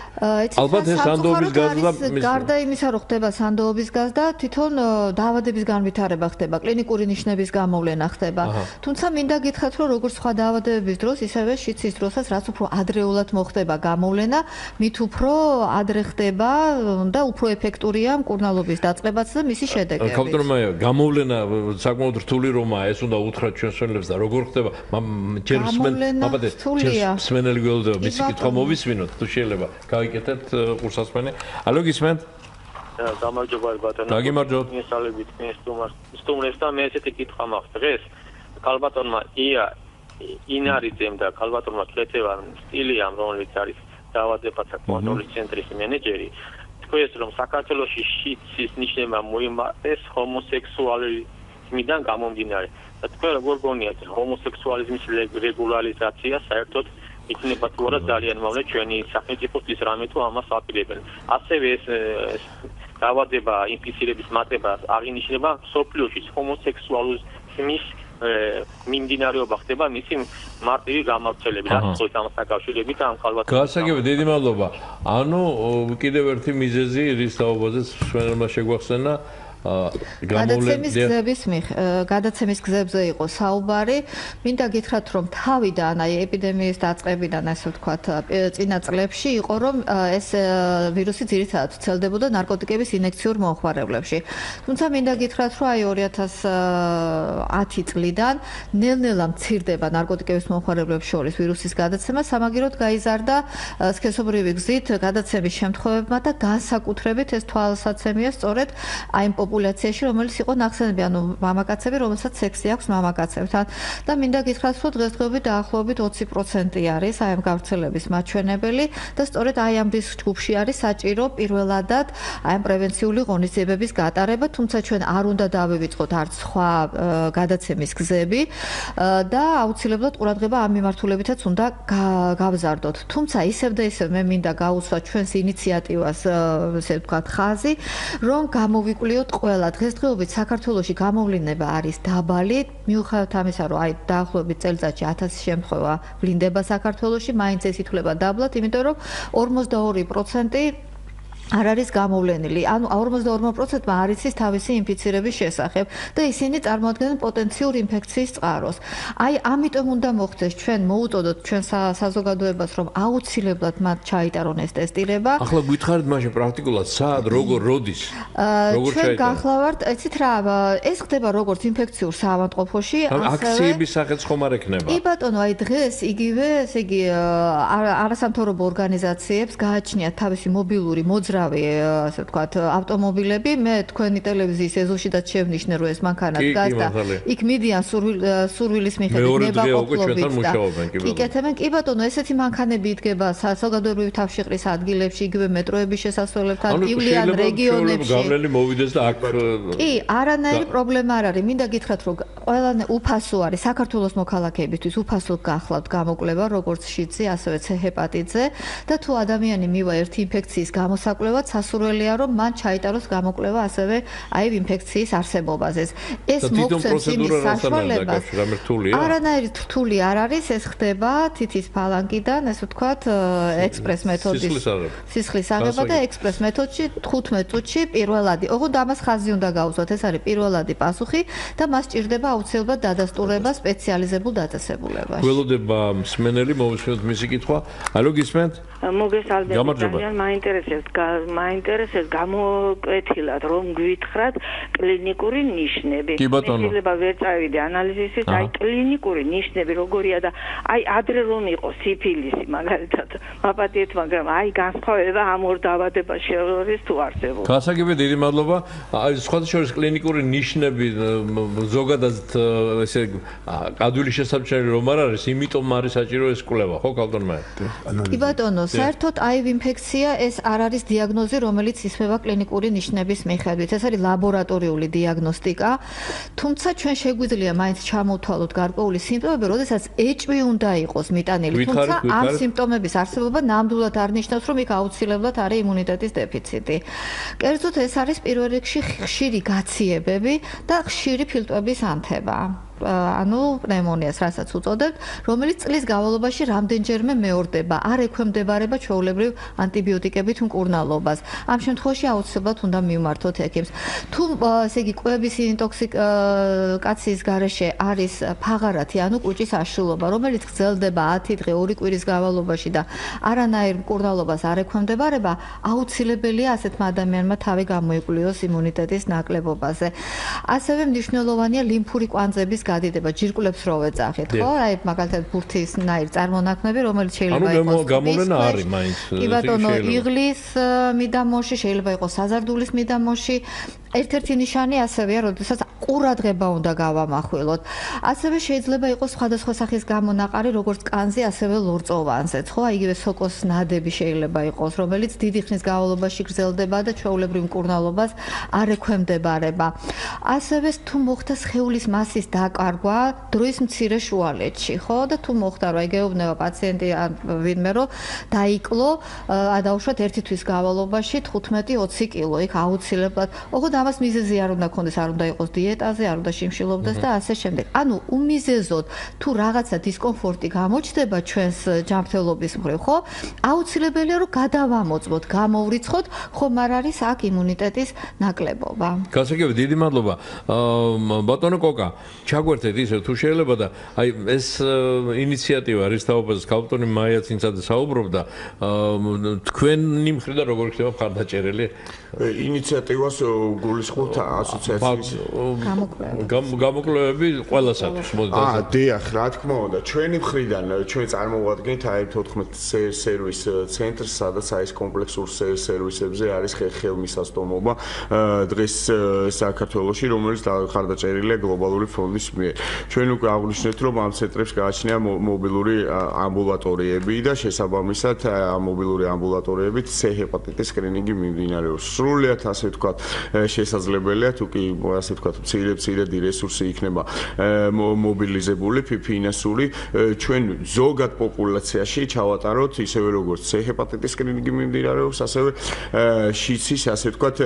ალბათ ეს სანდოობის გაზრდა გარდა იმისა, რომ ხდება სანდოობის გაზრდა, თვითონ დაავადების განვითარება ხდება, კლინიკური ნიშნების გამოვლენა ხდება. თუმცა მინდა გითხრათ, რომ როგორც სხვა დაავადებების დროს, ისევე შიცის დროსაც რაც უფრო ადრეულად მოხდება გამოვლენა, მით უფრო ადრე ხდება და უფრო ეფექტურია მკურნალობის დაწყებაც და მისი შედეგები. კაპიტანმა გამოვლენა საკმაოდ რთული რომაა, ეს უნდა უთხრათ ჩვენს მშენებლებს და როგორ ხდება? ჯერ მსმენელი გველოდება, მისი კითხვა მოვისმინოთ, თუ შეიძლება. გავიკეთეთ ყურსასმენი. ალო გისმენთ? გამარჯობა ბატონო. გაგიმარჯობთ. მისალებით სტუმრებს და მე ესეთი კითხვა მაქვს დღეს. კალბატონმა ინარიძემ და კალბატონმა ქეთევან სტილიამ, რომელიც არის დაავადებათა კონტროლის ცენტრის მენეჯერი, თქვენს რომ საქართველოში შიცის ნიშნება მოიმატეს ჰომოსექსუალიზმიდან გამომდინარე. და თქვენ როგორ გონიათ ჰომოსექსუალიზმის რეგულარიზაცია საერთოდ იქნება თუ არა ძალიან მოვლე ჩვენი სახელმწიფოსთვის რამე თუ ამას აპირებენ. ასევე ეს დაავადება ინფიცირების მატება აღინიშნება სოფლიოში ჰომოსექსუალიზმის მიმდინარეობა ხდება მისი მარტივი გამავრცელებით ახსოვს ამ საკავშირებით ამ კალბატონს. გასაგებია, დიდი მადლობა. ანუ კიდევ ერთი მიზეზი რის თაობაზეც მშვენელმა შეგვახსენა გადაცემის გზებზე იყო საუბარი. მინდა გითხრათ, რომ თავიდან აი ეპიდემიის დაწყებიდან ასე ვთქვათ, წინა წლებში იყო, რომ ეს ვირუსი ძირითადად ვრცელდებოდა ნარკოტიკების ინექციურ მომხმარებლებში. თუმცა მინდა გითხრათ, რომ აი 2010 წლიდან ნელ-ნელა მცირდება ნარკოტიკების მომხმარებლებს შორის ვირუსის გადაცემა, სამაგიეროდ გაიზარდა სქესობრივი გზით გადაცემის შემთხვევებმა და განსაკუთრებით ეს თვალსაცემია სწორედ აი პოპულაციაში, რომელიც იყო ნახსენები, ანუ მამაკაცები, რომელსაც სექსი აქვს მამაკაცებთან. და მინდა გითხრათ, რომ დღესდღეობით დაახლოებით 20% არის აი ამ გავრცელების მაჩვენებელი და სწორედ აი ამ ჯგუფში არის საჭირო პირველადად აი ამ პრევენციული ღონისძიებების გატარება, თუმცა ჩვენ არ უნდა დავივიწყოთ არც სხვა გადაცემის გზები და აუცილებლად ყურადღება ამ მიმართულებითაც უნდა გავზარდოთ. თუმცა ისევ და ისევ მე მინდა გაუსვათ ჩვენს ინიციატივას, ესე ვთქვათ, ხაზი, რომ გამოვიკვლიოთ ყველა დღესდღეობით საქართველოში გამოვლინება არის დაბალი, მიუხედავად ამისა, რომ აი დაახლოებით წელიწადში 1000 შემთხვევა ვლინდება საქართველოში, მაინც ეს ითვლება დაბლად, იმიტომ რომ 42% არ არის გამოვლენილი. ანუ 42%-მა არ იცის თავისი ინფიცირების შესახებ და ისინი წარმოადგენენ პოტენციურ ინფექციის წყაროს. აი, ამიტომ უნდა მოხდეს ჩვენ მოუწოდოთ ჩვენ საზოგადოებას, რომ აუცილებლად მათ ჩაიტარონ ეს ტესტირება. ახლა გითხარით მაშინ პრაქტიკულად სად, როგორ, როდის? როგორ ჩვენ გახლავართ, ეცით რა, ეს ხდება როგორც ინფექციურ საავადმყოფოში, ასევე აქციების სახეც ხომ არ ექნება? კი ბატონო, აი დღეს იგივე, ესე იგი არასამთავრობო ორგანიზაციებს გააჩნიათ თავისი მობილური მოძრავი ასე ვთქვათ, ავტომობილები. მე თქვენი ტელევიზიის ეზოშიდაც შევნიშნე, რომ ეს მანქანა დგას და იქ მიდიან სურვილის მიხედვით ნებაყოფლობით და იკეთებენ. კი ბატონო, ესეთი მანქანები იდგება საზოგადოებრივი თავშეყრის ადგილებში, იგივე მეტროების შესასვლელებთან, ივლიან რეგიონებში. გავლილი მოვიდეს და აქ კი, არანაირი პრობლემა არ არის. მინდა გითხრათ, რომ ყველანი უფასო არის საქართველოს მოქალაქეებისთვის, უფასო გახლავთ გამოკვლევა, როგორც შიცი, ასევე C ჰეპატიტზე და თუ ადამიანი მივა ერთი ინფექციის გამოსაკვლევად, სასურველია, რომ მან ჩაიტაროს გამოკვლევა ასევე აი ინფექციის არსებობაზე. ეს მოგცემს იმის საშუალებას. არანაირი რთული არ არის, ეს ხდება თითის ფალანგიდან, ესე ვთქვათ, ექსპრეს მეთოდის სისხლის აღება და ექსპრეს მეთოდში 15 წუთში პირველადი. ოღონდ ამას ხაზი უნდა გაუწოთ, ეს არის პირველადი პასუხი და მას ჭირდება აუცილებლად დადასტურება სპეციალიზებულ დაწესებულებაში. გველოდება მსმენელი, მოვისმინოთ მისი კითხვა. ალო გისმენთ? მოგესალმებით, ძალიან მაინტერესებს გამოკვეთილად რომ გვითხრათ კლინიკური ნიშნები. შეიძლება ვერ წავიდე ანალიზისით, აი კლინიკური ნიშნები როგორია და აი ადრე რომ იყოს სიფილისი მაგალითად მაპატიეთ, მაგრამ აი განსხვავება ამ ორ დაავადებას შორის თუ არსებობს. გასაგებია, დიდი მადლობა. აი სხვათა შორის კლინიკური ნიშნები ზოგადად ესე ადვილი შესაბამისად რომ არ არის, იმიტომ არის საჭირო ეს კვლევა, ხო კალბატონმა? კი ბატონო, საერთოდ აივ ინფექცია ეს არ არის დიაგნოზი, რომელიც ისმება კლინიკური ნიშნების მიხედვით. ეს არის ლაბორატორიული დიაგნოსტიკა. თუმცა ჩვენ შეგვიძლია მაინც ჩამოვთვალოთ გარკვეული სიმპტომები, როდესაც ეჭვი უნდა იყოს მიტანილი. თუმცა ამ სიმპტომების არსებობა ნამდვილად არ ნიშნავს, რომ იქ აუცილებლად არის იმუნიტეტის დეფიციტი. კერძოდ ეს არის პირველ რიგში ხშირი გაციებები და ხშირი ფილტვების ანთება. ანუ პნევმონიას, რასაც უწოდებთ, რომელიც წლის განმავლობაში რამდენჯერმე მეორდება, არ ექვემდებარება ჩვეულებრივ ანტიბიოტიკებით მკურნალობას. ამ შემთხვევაში აუცილებლად უნდა მივმართოთ ექიმს. თუ ესე იგი კვების ინტოქსიკაციის გარეშე არის ფაღარათი, ანუ კუჭის აშლილობა, რომელიც გრძელდება 10 დღე 2 კვირის განმავლობაში და არანაირ მკურნალობას არ ექვემდებარება, აუცილებელია ასეთმა ადამიანმა თავი გამოიკვლიოს იმუნიტეტის ნაკლებობაზე. ასევე მნიშვნელოვანია ლიმფური კვანძების გადიდება, ჯირკვლებს რო ვეძახით, ხო? აი მაგალითად ბურთისნაირ წარმონაქმნები, რომელიც შეიძლება იყოს გამოვლენა არის მაინც. კი ბატონო, იღლის მიდამოში, შეიძლება იყოს საზარდულის მიდამოში. ერთ-ერთი ნიშანი ასევეა, როდესაც ყურადღება უნდა გავამახვილოთ. ასევე შეიძლება იყოს სხვადასხვა სახის გამონაყარი, როგორც კანზე, ასევე ლორწოვანზეც, ხო? იგივე სოკოს ნადები შეიძლება იყოს, რომელიც დიდი ხნის განმავლობაში გრძელდება და ჩვეულებრივ მკურნალობას არ ექვემდებარება. ასევე თუ მოხდა სხეულის მასის დაკარგვა დროის მცირე შუალედში, ხო? და თუ მოხდა, რა იგეუბნება პაციენტი ან ვინმე რომ დაიკლო, დაუშვათ 1 თვის განმავლობაში 15-20 კილო, იქ აუცილებლად. ოღონდ ამას მიზეზი არ უნდა ქონდეს, არ უნდა იყოს დიეტაზე, არ უნდა შიმშილობდეს და ასე შემდეგ. ანუ უმიზეზოდ თუ რაღაცა დისკომფორტი გამოჩნდება ჩვენს ჯანმრთელობის მხრივ, ხო? აუცილებელია რომ გადავამოწმოთ, გამოვრიცხოთ, ხომ არ არის აქ იმუნიტეტის ნაკლებობა. გასაგებია, დიდი მადლობა. ბატონო კოკა, ჩაგვერთეთ ისე თუ შეიძლება და აი ეს ინიციატივა რის თაობაზე ქალბატონი მაიაც ინცადა საუბრობდა, თქვენი მხრიდან როგორ ხდება მხარდაჭერილი? ინიციატივას გულისხმობთ ასოციაციის გამოკვლევები ყველასათვის მოდი. დიახ, რა თქმა უნდა, ჩვენი მხრიდან ჩვენ წარმოვადგენთ აი 14 სერვის ცენტრს, სადაც აი ეს კომპლექსურ სერვისებზე არის ხელმისაწვდომობა დღეს საქართველოში, რომელიც ხარდაჭერილია გლობალური ფონდის მიერ. ჩვენ უკვე აღვნიშნეთ, რომ ამ ცენტრებს გააჩნია მობილური ამბულატორიები და შესაბამისად ამ მობილური ამბულატორიებით C ჰეპატიტის სკრინინგი მიმდინარეობს. სრულიად ასე ვთქვათ, შესაძლებელია თუ კი ასე ვთქვათ, მცირე რესურსი იქნება მობილიზებული ფინანსური, ჩვენ ზოგად პოპულაციაში ჩავატაროთ ისევე როგორც C ჰეპატიტის სკრინინგი მიმდინარეობს, ასევე შიცის ასე ვთქვათ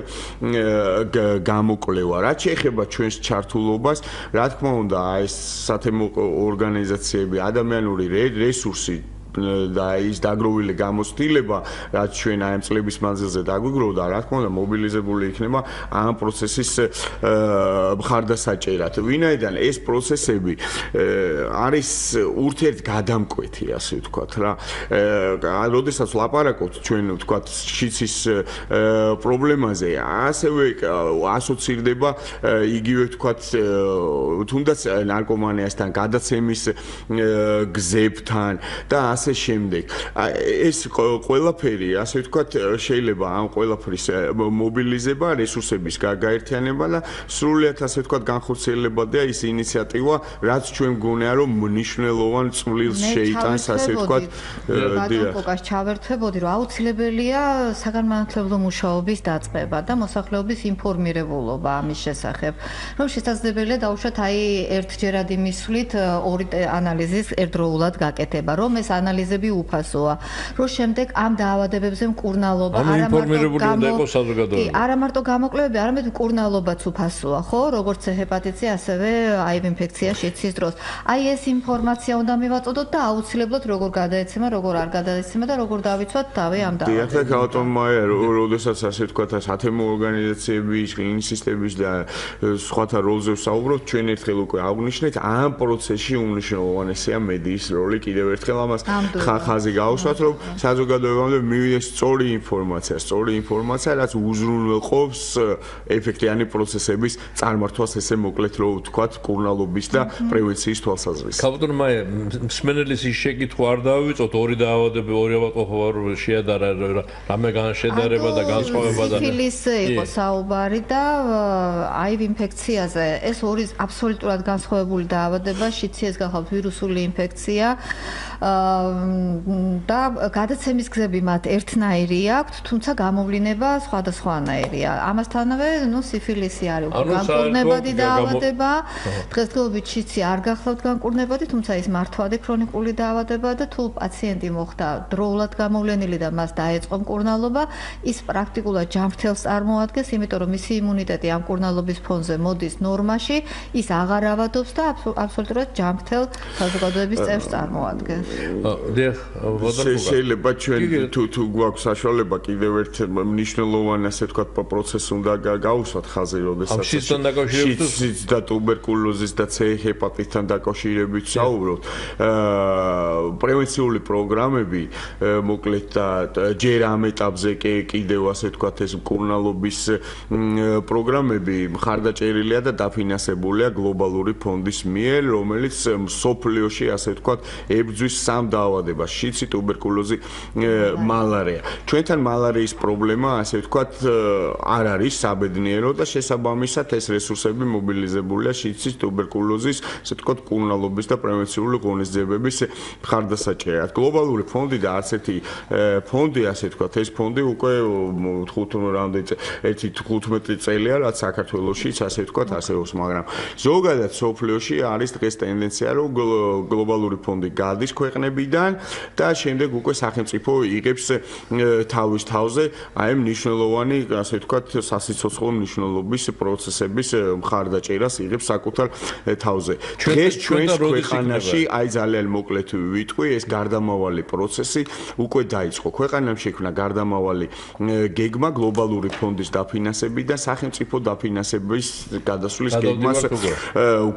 გამოკვლევა. რაც შეეხება ჩვენს ჩართულობას, რა თქმა უნდა, ეს სათემო ორგანიზაციები, ადამიანური რესურსი და ის დაგროვილი გამოცდილება, რაც ჩვენ აი ამ წლების მანძილზე დაგვიგროვდა, რა თქმა უნდა, მობილიზებული იქნება ამ პროცესის მხარდასაჭერად. ვინაიდან ეს პროცესები არის ურთიერთგადამკვეთი, ასე ვთქვათ რა. როდესაც ლაპარაკობთ ჩვენ ვთქვათ შიცის პრობლემაზე, ასევე ასოცირდება იგივე ვთქვათ თუნდაც ნარკომანიასთან, გადაცემის გზებთან და ასე შემდეგ. ეს ყველაფერი, ასე ვთქვათ, შეიძლება ამ ყველაფრის მობილიზება, რესურსების გაერთიანება და სრულიად ასე ვთქვათ განხორციელებადია ის ინიციატივა, რაც ჩვენ გონია რომ მნიშვნელოვან წვლილს შეიტანს, ასე ვთქვათ. ბატონ კოკას ჩავერთვებოდი, რომ აუცილებელია საგანმანათლებლო მუშაობის დაწყება და მოსახლეობის ინფორმირებულობა ამის შესახებ, რომ შესაძლებელია დაუშვათ აი ერთჯერადი მისვლით ორი ანალიზის ერთდროულად გაკეთება, რომ ეს ანალიზები უფასოა, რომ შემდეგ ამ დაავადებებზე მკურნალობა არა მარტო გამოკვლევები, არამედ მკურნალობაც უფასოა, ხო, როგორც ჰეპატიტი, ასევე აივ ინფექცია შიცის დროს. აი ეს ინფორმაცია უნდა მივაწოდოთ და აუცილებლად როგორ გადაეცემა, როგორ არ გადაეცემა და როგორ დავიცვათ თავი ამ დაავადებაზე. დიახ, ავტომატია, როდესაც ასე ვთქვათ, სათემო ორგანიზაციების, კლინიკების და სხვათა როლზე ვსაუბრობთ, ჩვენ ერთხელ უკვე აღვნიშნეთ, ამ პროცესში უმნიშვნელოვანესია მედიის როლი. კიდევ ერთხელ ამას ხაზი გავუსვათ, რომ საზოგადოებამდე მივიდეს სწორი ინფორმაცია, რაც უზრუნველყოფს ეფექტიანი პროცესების წარმართვას, ესე მოკლედ რო ვთქვათ, მკურნალობის და პრევენციის თვალსაზრისით. ქალბატონ მაია, მსმენელის ის შეკითხვა არ დავივიწოთ, ორი დაავადებები, ორი ავადმყოფობა შეადარა, რამე განშედარება და განსხვავება და სიფილისზე იყო საუბარი და აივ ინფექციაზე. ეს ორი აბსოლუტურად განსხვავებული დაავადება, შიცი ეს გახავთ ვირუსული ინფექცია. და გადაცემის გზები მათ ერთნაირი აქვთ, თუმცა გამოვლინება სხვადასხვანაირია. ამასთანავე, სიფილისი არის განკურნებადი დაავადება. დღესდღეობით შიცი არ გახლავთ განკურნებადი, თუმცა ის მართვადი ქრონიკული დაავადება და თუ პაციენტი მოხდა დროულად გამოვლენილი და მას დაეწყო მკურნალობა, ის პრაქტიკულად ჯანმრთელს წარმოადგენს, იმიტომ რომ მისი იმუნიტეტი ამ მკურნალობის ფონზე მოდის ნორმაში, ის აღარ ავადობს და აბსოლუტურად ჯანმრთელ საზოგადოების წევრს წარმოადგენს. შეიძლება ჩვენ თუ გვაქვს საშუალება კიდევ ერთ მნიშვნელოვან ასე ვთქვათ პროცესს უნდა გავუსვათ ხაზი, როდესაც შიც და ტუბერკულოზის და C ჰეპატიტთან დაკავშირებით საუბრობთ. პრევენციული პროგრამები მოკლედ და ჯერ ამ ეტაპზე კიდევ ასე ვთქვათ ეს მკურნალობის პროგრამები მხარდაჭერილია და დაფინანსებულია გლობალური ფონდის მიერ, რომელიც მსოფლიოში ასე ვთქვათ ებრძვის 3 დაავადებას: შიცი, ტუბერკულოზი, მალარია. ჩვენთან მალარიის პრობლემა ასე ვთქვათ არ არის საბედნიერო და შესაბამისად ეს რესურსები მობილიზებულია შიცის, ტუბერკულოზის, ასე ვთქვათ მკურნალობის და პრევენციული ღონისძიებების მხარდასაჭერად. გლობალური ფონდი და არც ერთი ფონდი ასე ვთქვათ ეს ფონდი უკვე 15 წელია რაც საქართველოშიც ასე ვთქვათ არსებობს, მაგრამ ზოგადად სოფლიოში არის დღეს ტენდენცია რომ გლობალური ფონდი გადის ქვეყნებიდან და შემდეგ უკვე სახელმწიფო იღებს თავის თავზე აი მნიშვნელოვანი ასე ვთქვათ სასიცოცხლო მნიშვნელობის პროცესების მხარდაჭერას იღებს საკუთარ თავზე. დღეს ჩვენს ქვეყანაში აი ძალიან მოკლედ ვიტყვი ეს გარდამავალი პროცესი უკვე დაიწყო. ქვეყანამ შექმნა გარდამავალი გეგმა გლობალური ფონდის დაფინანსებიდან სახელმწიფო დაფინანსების გადასვლის გეგმას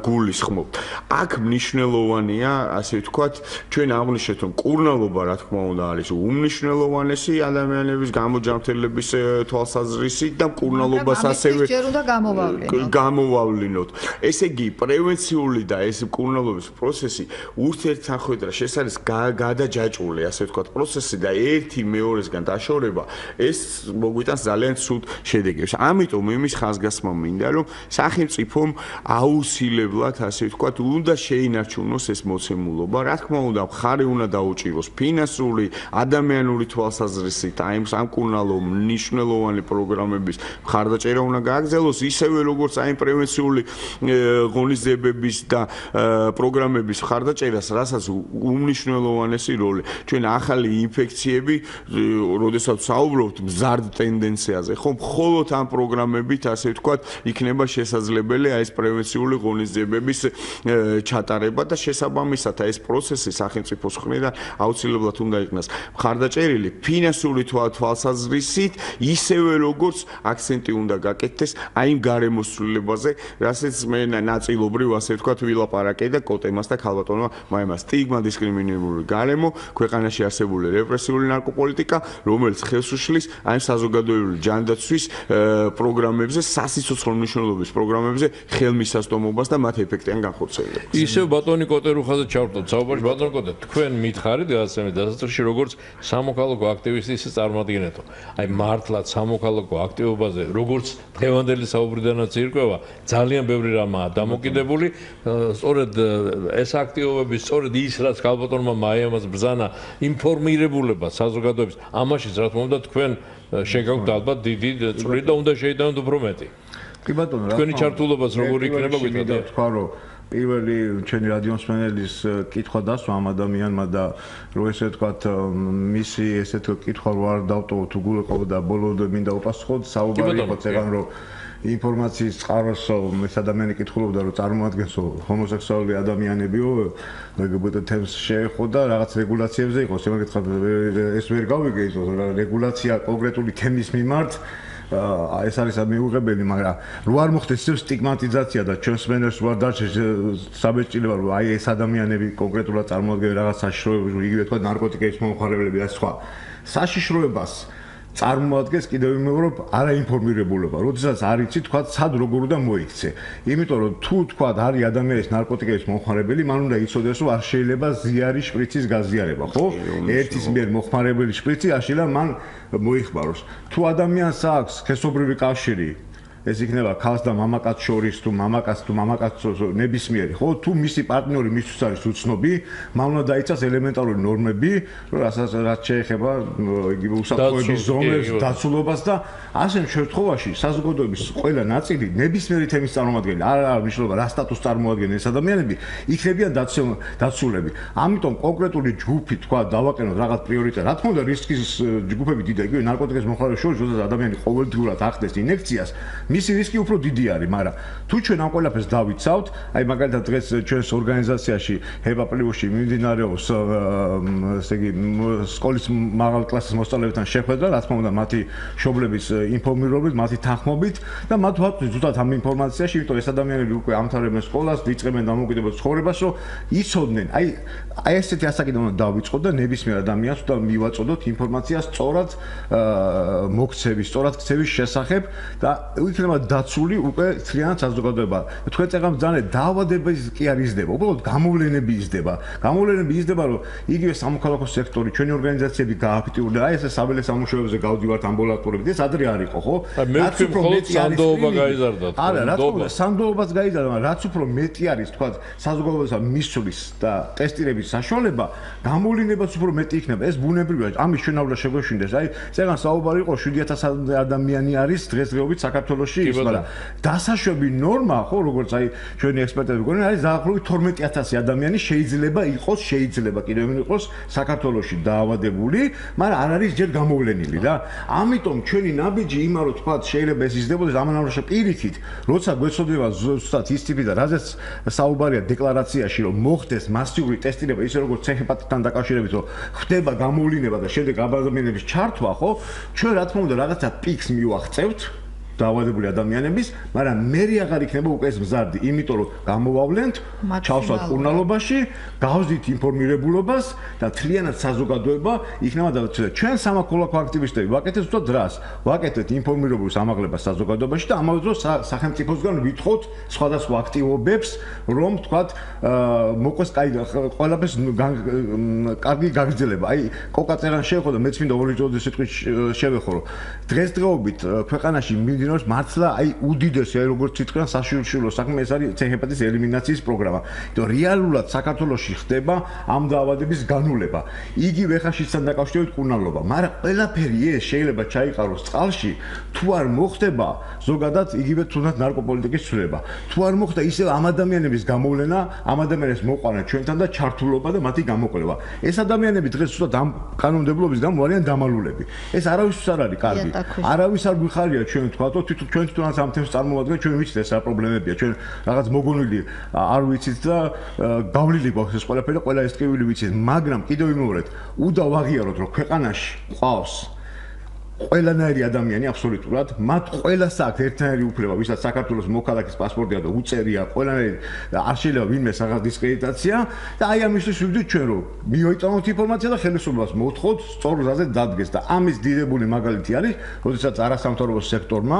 გულისხმობთ. აქ მნიშვნელოვანია ასე ვთქვათ ჩვენ აღვნიშნეთ რომ მკურნალობა რა თქმა უნდა არის უმნიშვნელოვანესი ადამიანების გამოჯანმრთელების თვალსაზრისით და მკურნალობას ასევე გამოვავლინოთ. ესე იგი პრევენციული და ეს მკურნალობის პროცესი ურთიერთსახვედრა შესაძლოა გადაჯაჭვული ასე ვთქვათ პროცესი და ერთი მეორესგან დაშორება ეს მოგვიტანს ძალიან ცუდ შედეგებს. ამიტომ იმის ხაზგასმა მინდა რომ სახელმწიფომ აუცილებლად ასე ვთქვათ უნდა შეინარჩუნოს ეს მოცემულობა. რა თქმა უნდა მხარი უნდა დაუჭიროს ფინანსური, ადამიანური თვალსაზრისით აი ამ მკურნალო მნიშვნელოვანი პროგრამების მხარდაჭერა უნდა გააგრძელოს ისევე როგორც აი პრევენციული ღონისძიებების და პროგრამების მხარდაჭერას, რასაც უმნიშვნელოვანესი როლი. ჩვენ ახალი ინფექციები, როდესაც საუბრობთ მზარდ ტენდენციაზე, ხო, მხოლოდ ამ პროგრამებით ასე ვთქვათ იქნება შესაძლებელი აი ეს პრევენციული ღონისძიებების ჩატარება და შესაბამისად ეს პროცესი სახელმწიფოს მხრიდან აუცილებლად უნდა იქნას მხარდაჭერილი ფინანსური თვალსაზრისით, ისევე როგორც აქცენტი უნდა გაკეთდეს აი იმ გარემოსვლილებაზე, რასაც მე ნაწილობრივ ასე ვთქვათ ვილაპარაკე და კოტემას და ქალბატონმა მაიმას სტიგმა დისკრიმინირებული გარემო, ქვეყანაში არსებული რეპრესიული ნარკოპოლიტიკა, რომელიც ხელს უშლის აი საზოგადოებრივი ჯანდაცვის პროგრამებზე, სასიცოცხლო მნიშვნელობის პროგრამებზე ხელმისაწვდომობას და მათ ეფექტიან განხორციელებას. ისევ ბატონი კოტერუხაზე ჩავთვალოთ საუბარში. ბატონი კოტე, თქვენ მითხარით გადაცემის დასაწყისში როგორც სამოქალაქო აქტივისტი ისე წარმოადგენეთო. აი მართლაც სამოქალაქო აქტივობაზე როგორც დღევანდელი საუბრიდანაც ირკვევა, ძალიან ბევრი რამაა დამოკიდებული. სწორედ ეს აქტივობები, სწორედ ის რაც ქალბატონმა მაიამას ბრძანა ინფორმირებულება საზოგადოების, ამაშიც რა თქმა უნდა თქვენ შეგაქვთ ალბათ დიდი წვლილი და უნდა შეიტანოთ უფრო მეტი. კი ბატონო, რა თქვენი ჩართულობაც როგორი იქნება გითხრათ? თქვა რომ პირველი ჩვენი რადიოსმენელის კითხვა დასვა ამ ადამიანმა და რო ესე ვთქვათ მისი ესეთ კითხვა რო არ დავტოვო თუ გულიყო და ბოლომდე მინდა უპასუხოთ საუბარი იყო წეგან რომ ინფორმაციის წყაროს ეს ადამიანი კითხულობდა რომ წარმოადგენსო ჰომოსექსუალი ადამიანებიო LGBT თემს შეეხო და რაღაც რეგულაციებზე იყო შემოგეთხარ ეს ვერ გავიგე ის რეგულაცია კონკრეტული თემის მიმართ ეს არის მიუღებელი, მაგრამ რო არ მოხდეს ეს სტიგმატიზაცია და ჩვენს მენერს რო არ დარჩეს საბეჭდილება რომ აი ეს ადამიანები კონკრეტულად წარმოადგენენ რაღაც საშიშროებას, იგივე თქვა ნარკოტიკების მომხმარებლები და სხვა საშიშროებას წარმოადგენს კიდევ ვიმეორებ არაინფორმირებულობა. როდესაც არ იცი თქვა სად როგორ უნდა მოიქცე. იმიტომ რომ თუ თქვა არის ადამიანის ნარკოტიკების მომხმარებელი, მან უნდა იცოდეს რომ არ შეიძლება ზიარი შპრიცის გაზიარება, ხო? ერთის მიერ მომხმარებელი შპრიცი აშილა მან მოიხმაროს. თუ ადამიანს აქვს სქესობრივი კავშირი ეს იქნება ქალს და მამაკაცს შორის თუ მამაკაცს თუ მამაკაცს ნებისმიერი ხო თუ მისი პარტნიორი მისთვის არის უცნობი მან უნდა დაიცას ელემენტარული ნორმები რაც შეეხება იგივე უსაფრთხოების ზონებს დაცულობას და ასე შემთხვევაში საზოგადოების ყველა ნაწილი ნებისმიერი თემის წარმომადგენელი არ მნიშვნელობა რა სტატუსს წარმოადგენენ ეს ადამიანები იქნებიან დაცულები ამიტომ კონკრეტული ჯგუფი თქვა დავაკენოთ რაღაც პრიორიტეტი რა თქმა უნდა რისკის ჯგუფები დიდი იგივე ნარკოტიკის მომხმარების შორის როდესაც ადამიანი ყოველდღურად ახდენს ინექციას მისი რისკი უფრო დიდი არის, მაგრამ თუ ჩვენ ამ ყველაფერს დავიცავთ, აი მაგალითად დღეს ჩვენს ორგანიზაციაში HEPA Plus-ში მიმდინარეობს ესე იგი სკოლის მაღალ კლასის მოსწავლეებთან შეხვედრა, რა თქმა უნდა, მათი მშობლების ინფორმირებით, მათი თანხმობით და მათ ვაწვდით ზუსტად ამ ინფორმაციაში, იმიტომ ეს ადამიანები უკვე ამთავრებენ სკოლას, იწყებენ დამოუკიდებელ ცხოვრებას, რომ იცოდნენ, აი ესეთი ასაკიდან უნდა დავიწყოთ და ნებისმიერ ადამიანს უნდა მივაწოდოთ ინფორმაცია სწორად მოქცევის, სწორად ქცევის შესახებ და იქნება დაცული უკვე ცრიანად საზოგადოება. თქვენ წეგამს ძალიან დაავადების კი არ იზრდება, უბრალოდ გამოვლენები იზრდება. გამოვლენები იზრდება, რომ იგივე სამოქალაქო სექტორი, ჩვენი ორგანიზაციები გააქტიურდა, აი ეს საბელე სამუშაოებზე გავდივართ ამბულატორებით, ეს ადრე არ იყო, ხო? რაც უფრო მეტი სანდოობა გაიზარდა. არა, რა თქმა უნდა, სანდოობას გაიზარდა, მაგრამ რაც უფრო მეტი არის, თქვა, საზოგადოებასა მისვლის და ტესტირების საშუალება, გამოვლენებაც უფრო მეტი იქნება. ეს ბუნებრივია, ამის ჩვენ არ უნდა შეგვეშინდეს. აი, წეგან საუბარი იყო 7000 ადამიანი არის დღესდღეობით საქართველოში, მაგრამ დასაშვები ნორმა, ხო, როგორც აი ჩვენი ექსპერტები გონენ, არის დაახლოებით 12000 ადამიანი შეიძლება იყოს, შეიძლება კიდევ იყოს საქართველოში დაავადებული, მაგრამ არ არის ჯერ გამოვლენილი რა. ამიტომ ჩვენი ნაბიჯი იმან რომ თქვა შეიძლება ეს იზრდებოდეს ამანავში პირიქით, როცა გვეცოდება ზუსტად ის ტიპი და რაზეც საუბარია დეკლარაციაში რომ მოხდეს მასიური ტესტირება ისე როგორც ცეჰეპატიტთან დაკავშირებით რომ ხდება გამოვლენა და შემდეგ ადამიანების ჩართვა, ხო? ჩვენ რა თქმა უნდა რაღაცა პიქს მივახცევთ დაავადებული ადამიანების, მაგრამ მე აღარ იქნება უკვე ეს მზარდი, იმიტომ რომ გამოვავლენთ, ჩავსვათ კურნალობაში, გავზდით ინფორმირებულობას და თლიანად საზოგადოება იქნება და ჩვენ სამოქალაქო აქტივისტები ვაკეთებთ ზუსტად რას? ვაკეთებთ ინფორმირებულს ამაღლებას საზოგადოებაში და ამავე დროს სახელმწიფოსგან ვითხოვთ სხვადასხვა აქტივობებს, რომ თქვათ მოყვეს ყველაფერს კარგი გაგრძელება. აი, კოკაწერან შეეხო და მეც მინდა ორიჯოდის სიტყვით შევეხო, რომ დღესდღეობით ქვეყანაში მართლა აი უდიდესი აი როგორც ითქვა საშიშულო საქმე ეს არის ცეჰეპატიტის ელიმინაციის პროგრამა. იმიტომ რეალურად საქართველოში ხდება ამ დაავადების განულება. იგივე ხაშისთან დაკავშირებით კურნალობა, მაგრამ ყველაფერი ეს შეიძლება ჩაიყაროს წყალში, თუ არ მოხდება ზოგადად იგივე თუნდაც ნარკოპოლიტიკის ცვლილება. თუ არ მოხდა ისევ ამ ადამიანების გამოვლენა, ამ ადამიანებს მოყვანა ჩვენთან და ჩართულობა და მათი გამოკვლევა. ეს ადამიანები დღეს ზუსტად ამ კანონმდებლობის გამო არიან დამალულები. ეს არავისთვის არ არის კარგი. არავის არ გვიხარია ჩვენ თქვა ჩვენ თვითონაც ამ თემს წარმოვადგენ, ჩვენ ვიცით ეს რა პრობლემებია, ჩვენ რაღაც მოგონილი არ ვიცით და გავლილი გვაქვს ეს ყველაფერი, ყველა ეს ტკივილი ვიცით, მაგრამ კიდევ ვიმეორეთ, უნდა ვაღიაროთ, რომ ქვეყანაში ყავს ყველანაირი ადამიანი აბსოლუტურად, მათ ყველას აქვს ერთნაირი უფლება, ვისაც საქართველოს მოქალაქის პასპორტია და უწერია, ყველანაირი არ შეიძლება ვინმე რაღაც დისკრედიტაცია და აი ამისთვის ვიგდით ჩვენ რომ მივეწამოთ ინფორმაცია და ხელისუფლებას მოვთხოვთ სწორ გზაზე დადგეს და ამის დიდებული მაგალითი არის, როდესაც არასამთავრობო სექტორმა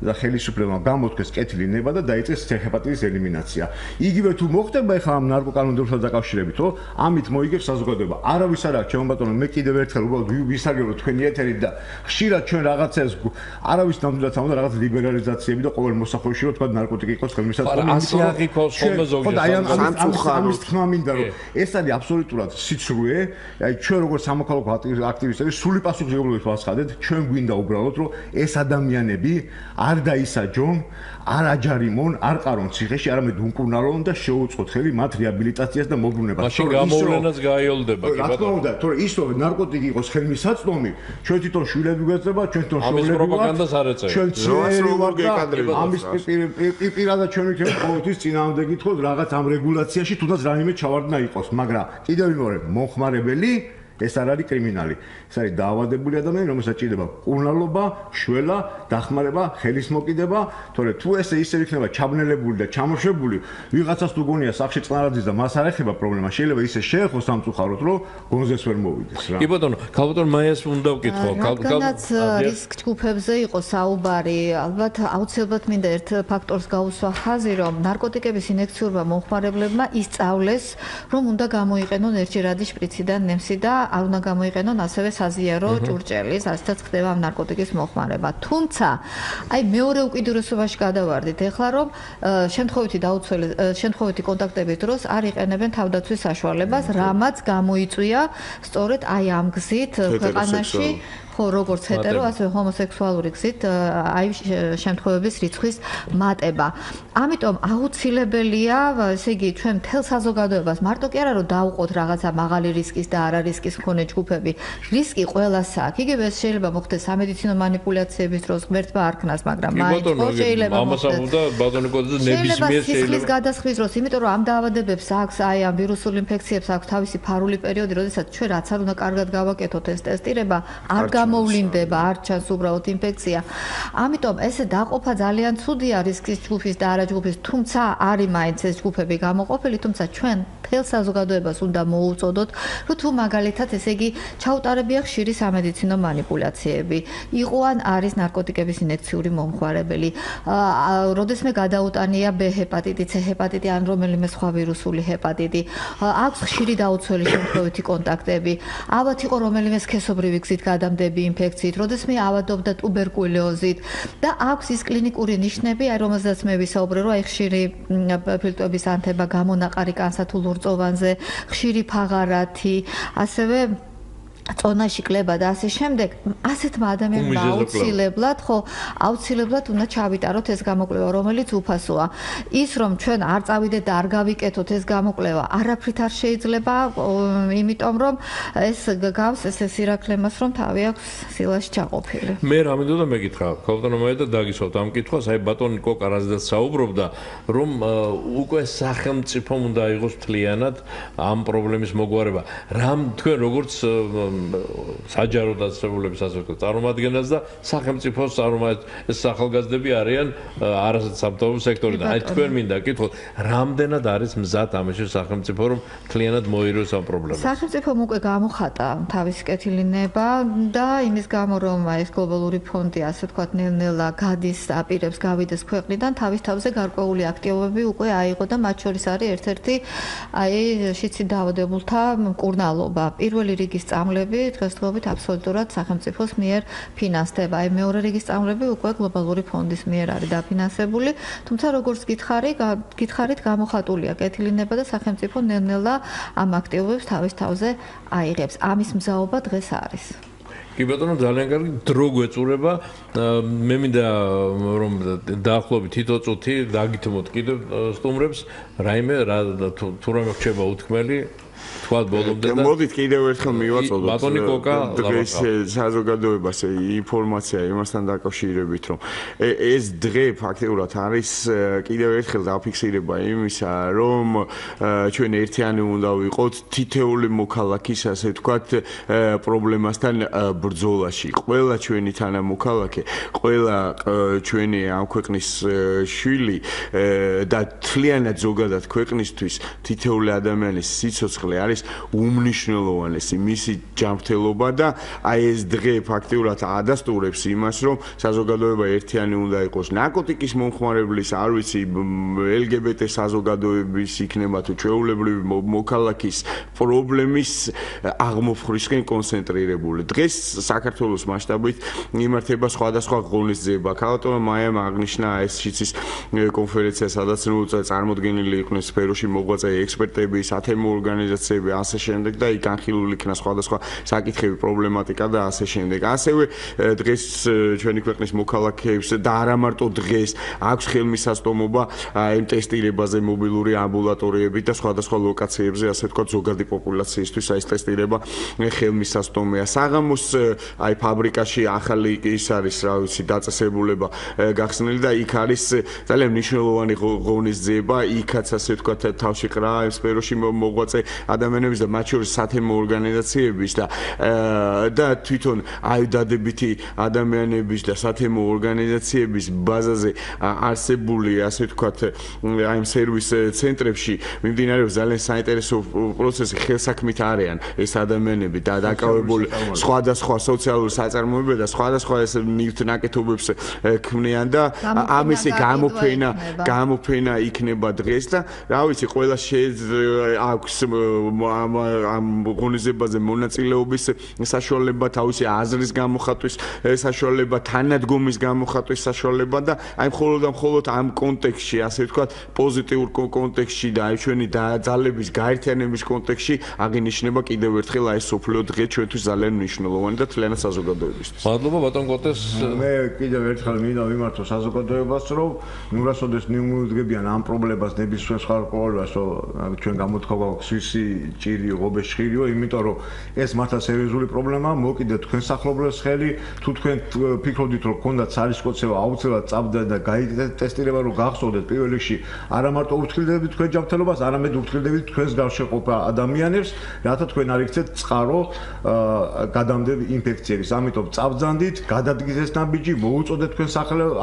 და ხელისუფლებამ გამოთქვეს კეთილი ნება და დაიწყეს ცეჰეპატიტის ელიმინაცია. იგივე თუ მოხდება ახლა ამ ნარკოკანონმდებლობთან დაკავშირებით, რომ ამით მოიგებს საზოგადოება. არავის არ აქვს, ჩემო ბატონო, მე კიდევ ერთხელ უბრალოდ ვისარგებლო თქვენი ეთერით და ხშირად ჩვენ რაღაცას არავის ნამდვილად ამოდა რაღაც ლიბერალიზაციები და ყოველ მოსახლეობაში რომ თქვა ნარკოტიკი იყოს ხელმისაწვდომი. ასე აღიქოს ხოლმე ზოგადად. ამის თქმა მინდა რომ ეს არის აბსოლუტურად სიცრუე. აი ჩვენ როგორც სამოქალაქო აქტივისტები სული პასუხისმგებლობით ვაცხადეთ, ჩვენ გვინდა უბრალოდ რომ ეს ადამიანები არ დაისაჯონ, არ აჯარიმონ, არ ყარონ ციხეში, არამედ უკურნალონ და შეუწყოთ ხელი მათ რეაბილიტაციას და მობრუნებას. მაშინ გამოვლენაც გაიოლდება, კი ბატონო. რა თქმა უნდა, თორე ის რომ ნარკოტიკი იყოს ხელმისაწვდომი, ჩვენ თვითონ შვილები გვეწება, ჩვენ თვითონ შვილები პროპაგანდას არ ეწევთ. ჩვენ ძველი ვარ და ამის პირადად ჩვენ ვიქნებით ყოველთვის წინააღმდეგ გითხოთ რაღაც ამ რეგულაციაში თუნდაც რაიმე ჩავარდნა იყოს, მაგრამ კიდევ ვიმეორებ, მომხმარებელი ეს არ არის კრიმინალი. ეს არის დაავადებული ადამიანი, რომელსაც ჭირდება კურნალობა, შველა, დახმარება, ხელის მოკიდება, თორე თუ ესე ისე იქნება ჩაბნელებული და ჩამოშვებული, ვიღაცას თუ გონია სახში წყნარაძის და მას არ ეხება პრობლემა, შეიძლება ისე შეეხოს სამწუხაროდ, რომ გონზეს ვერ მოვიდეს რა. კი ბატონო, ქალბატონ მაიას უნდა ვკითხო. რადგანაც რისკ ჯგუფებზე იყო საუბარი, ალბათ აუცილებლად მინდა ერთ ფაქტორს გაუსვა ხაზი, რომ ნარკოტიკების ინექციურმა მომხმარებლებმა ისწავლეს, რომ უნდა გამოიყენონ ერთჯერადი შპრიციდან ნემსი და არ უნდა გამოიყენონ ასევე საზიარო ჭურჭელი, ასეთაც ხდება ამ ნარკოტიკის მოხმარება. თუმცა, აი მეორე უკიდურესობაში გადავარდით ახლა რომ შემთხვევითი კონტაქტების დროს არ იყენებენ თავდაცვის საშუალებას, რამაც გამოიწვია სწორედ აი ამ გზით ქვეყანაში ხო როგორც ჰეტერო ასევე ჰომოსექსუალური გზით აი შემთხვევების რიცხვის მატება. ამიტომ აუცილებელია, ესე იგი, ჩვენ მთელ საზოგადოებას მარტო კი არა რომ დავუყოთ რაღაცა მაღალი რისკის და არა რისკის მქონე ჯგუფები. რისკი ყველას აქვს. იგივე ეს შეიძლება მოხდეს სამედიცინო манипуляციების დროს ღმერთმა არ ქნას, მაგრამ მაინც შეიძლება მოხდეს. შეიძლება სისხლის გადასხვის დროს, იმიტომ რომ ამ დაავადებებს აქვს აი ამ ვირუსულ ინფექციებს აქვს თავისი ფარული პერიოდი, როდესაც ჩვენ რაც არ უნდა კარგად გავაკეთოთ ეს ტესტირება, არ გამოვლინდება, არ ჩანს უბრალოდ ინფექცია. ამიტომ ესე დაყოფა ძალიან ცუდია რისკის ჯგუფის და არა ჯგუფის, თუმცა არის მაინც ეს ჯგუფები გამოყოფილი, თუმცა ჩვენ მთელ საზოგადოებას უნდა მოუწოდოთ, რომ თუ მაგალითად ესე იგი ჩაუტარებია ხშირი სამედიცინო манипуляციები, იყო ან არის ნარკოტიკების ინექციური მომხმარებელი, როდესმე გადაუტანია B ჰეპატიტი, C ჰეპატიტი ან რომელიმე სხვა ვირუსული ჰეპატიტი, აქვს ხშირი დაუცველი შემთხვევითი კონტაქტები, ალბათ იყო რომელიმე სქესობრივი გზით გადამდები ინფექციით, როდესმე ავადობდა ტუბერკულოზით და აქვს ის კლინიკური ნიშნები, აი რომელზეც მე ვისაუბრე, რომ აი ხშირი ფილტვების ანთება, გამონაყარი კანსა თუ ლურწოვანზე, ხშირი ფაღარათი, ასევე წონაში კლება და ასე შემდეგ, ასეთმა ადამიანებმა აუცილებლად უნდა ჩავიტაროთ ეს გამოკვლევა, რომელიც უფასოა. ის რომ ჩვენ არ წავიდეთ და არ გავიკეთოთ ეს გამოკვლევა, არაფრით არ შეიძლება, იმიტომ რომ ეს გავს ეს სირაქლემას, რომ თავი აქვს სილაში ჩაყოფილი. მე რა მინდოდა მეკითხა, ქალბატონო და დაგისვათ ამ კითხვას, აი ბატონი კოკა რაზეც საუბრობდა, რომ უკვე სახელმწიფომ უნდა იყოს მთლიანად ამ პრობლემის მოგვარება. რამ თქვენ როგორც საჯარო დაწესებულების ასე ვთქვათ წარმომადგენელს და სახელმწიფოს ეს ახალგაზრდები არიან არასამთავრობო სექტორიდან. აი თქვენ მინდა კითხოთ, რამდენად არის მზად ამაში სახელმწიფო რომ მთლიანად მოიროს ამ პრობლემას? სახელმწიფომ უკვე გამოხატა თავისი კეთილინება და იმის გამო რომ ეს გლობალური ფონდი ასე ვთქვათ ნელ-ნელა გადის აპირებს გავიდეს ქვეყნიდან, თავის თავზე გარკვეული აქტივობები უკვე აიღო და მათ შორის არის ერთ-ერთი აი შიცით დაავადებულთა მკურნალობა. პირველი რიგის წამლები დღესდღეობით აბსოლუტურად სახელმწიფოს მიერ ფინანსდება. აი მეორე რიგის წამლები უკვე გლობალური ფონდის მიერ არის დაფინანსებული, თუმცა როგორც გითხარით გამოხატულია კეთილინება და სახელმწიფო ნელ-ნელა ამ აქტივობებს თავის თავზე აიღებს. ამის მზაობა დღეს არის. კი ბატონო, ძალიან კარგი დრო გვეწურება. მე მინდა რომ დაახლოებით თითო წუთი დაგითმოთ კიდევ სტუმრებს, რაიმე თუ რამე რჩება უთქმელი თქვათ ბოლომდე და მოდით კიდევ ერთხელ მივაწოდოთ ბატონი კოკა დღეს საზოგადოებას ინფორმაცია იმასთან დაკავშირებით, რომ ეს დღე ფაქტიურად არის კიდევ ერთხელ დაფიქსირება იმისა, რომ ჩვენ ერთიანი უნდა ვიყოთ თითეული მოქალაქის, ასე ვთქვათ, პრობლემასთან ბრძოლაში. ყველა ჩვენი თანამოქალაქე, ყველა ჩვენი ამ ქვეყნის შვილი და მთლიანად ზოგადად ქვეყნისთვის თითეული ადამიანის სიცოცხლე არის უმნიშვნელოვანესი მისი ჯანმრთელობა და აი ეს დღე ფაქტიურად ადასტურებს იმას, რომ საზოგადოება ერთიანი უნდა იყოს. ნარკოტიკის მომხმარებლის, არ ვიცი, LGBT საზოგადოების იქნება თუ ჩვეულებრივი მოქალაქის პრობლემის აღმოფხვრისკენ კონცენტრირებული. დღეს საქართველოს მასშტაბით იმართება სხვადასხვა ღონისძიება. ქალბატონო მაიამ აღნიშნა ეს შიცის კონფერენცია, სადაც წარმოდგენილი იყვნენ სფეროში მოღვაწე ექსპერტები, სათემო ორგანიზაციები, ასე შემდეგ და იქ განხილული იქნა სხვადასხვა საკითხები, პრობლემატიკა და ასე შემდეგ. ასევე დღეს ჩვენი ქვეყნის მოქალაქეებს და არა მარტო დღეს აქვს ხელმისაწვდომობა იმ ტესტირებაზე მობილური ამბულატორიებით და სხვადასხვა ლოკაციებზე, ასე ვთქვათ, ზოგადი პოპულაციისთვის ეს ტესტირება ხელმისაწვდომია. საღამოს აი ფაბრიკაში ახალი ის არის, რა ვიცი, დაწესებულება გახსნილი და იქ არის ძალიან მნიშვნელოვანი ღონისძიება, იქაც ასე ვთქვათ თავში ყრა იმ სფეროში მოღვაწე ადამიანების და მათ შორის სათემო ორგანიზაციების და თვითონ აი დადებითი ადამიანების და სათემო ორგანიზაციების ბაზაზე არსებული, ასე ვთქვათ, აი სერვის ცენტრებში მიმდინარეობს ძალიან საინტერესო პროცესი, ხელსაქმით არიან ეს ადამიანები და დაკავებული სხვადასხვა სოციალური საწარმოებები და სხვადასხვა ეს ნივთნაკეთობებს ქმნიან და ამისი გამოფენა იქნება დღეს და რა ვიცი, ყველა აქვს ამ ღონისძიებაზე მონაწილეობის საშუალება, თავისი აზრის გამოხატვის საშუალება, თანადგომის გამოხატვის საშუალება და აი მხოლოდ ამ კონტექსტში, ასე ვთქვათ, პოზიტიურ კონტექსტში და აი ჩვენი ძალების გაერთიანების კონტექსტში აღინიშნება კიდევ ერთხელ აი სოფლიო დღე ჩვენთვის ძალიან მნიშვნელოვანი და თლიანად საზოგადოებისთვის. მადლობა ბატონ კოტეს. მე კიდევ ერთხელ მინდა ვიმართო საზოგადოებას, რომ ნურასოდეს მიუძღებიან ამ პრობლემას ნებისმიერ სხვა პრობლემას, რომ ჩვენ გამოთქვა გვაქვს სვისი, ჭირი, ღობე, შხირიო, იმიტომ რომ ეს მართლა სერიოზული პრობლემაა, მოკიდეთ თქვენ სახლობლებს ხელი, თუ თქვენ ფიქრობდით, რომ გქონდათ სარისკოცევა, აუცილებლად წავდა და გაიტესტირება, რომ გახსოვდეთ პირველ რიგში არა მარტო ურთქლდებით თქვენ ჯანმრთელობას, არამედ ურთქლდებით თქვენს გარშეყოფა ადამიანებს, რათა თქვენ არ იქცეთ წყარო გადამდები ინფექციების. ამიტომ წავძანდით, გადადგეს ეს ნაბიჯი, მოუწოდეთ თქვენ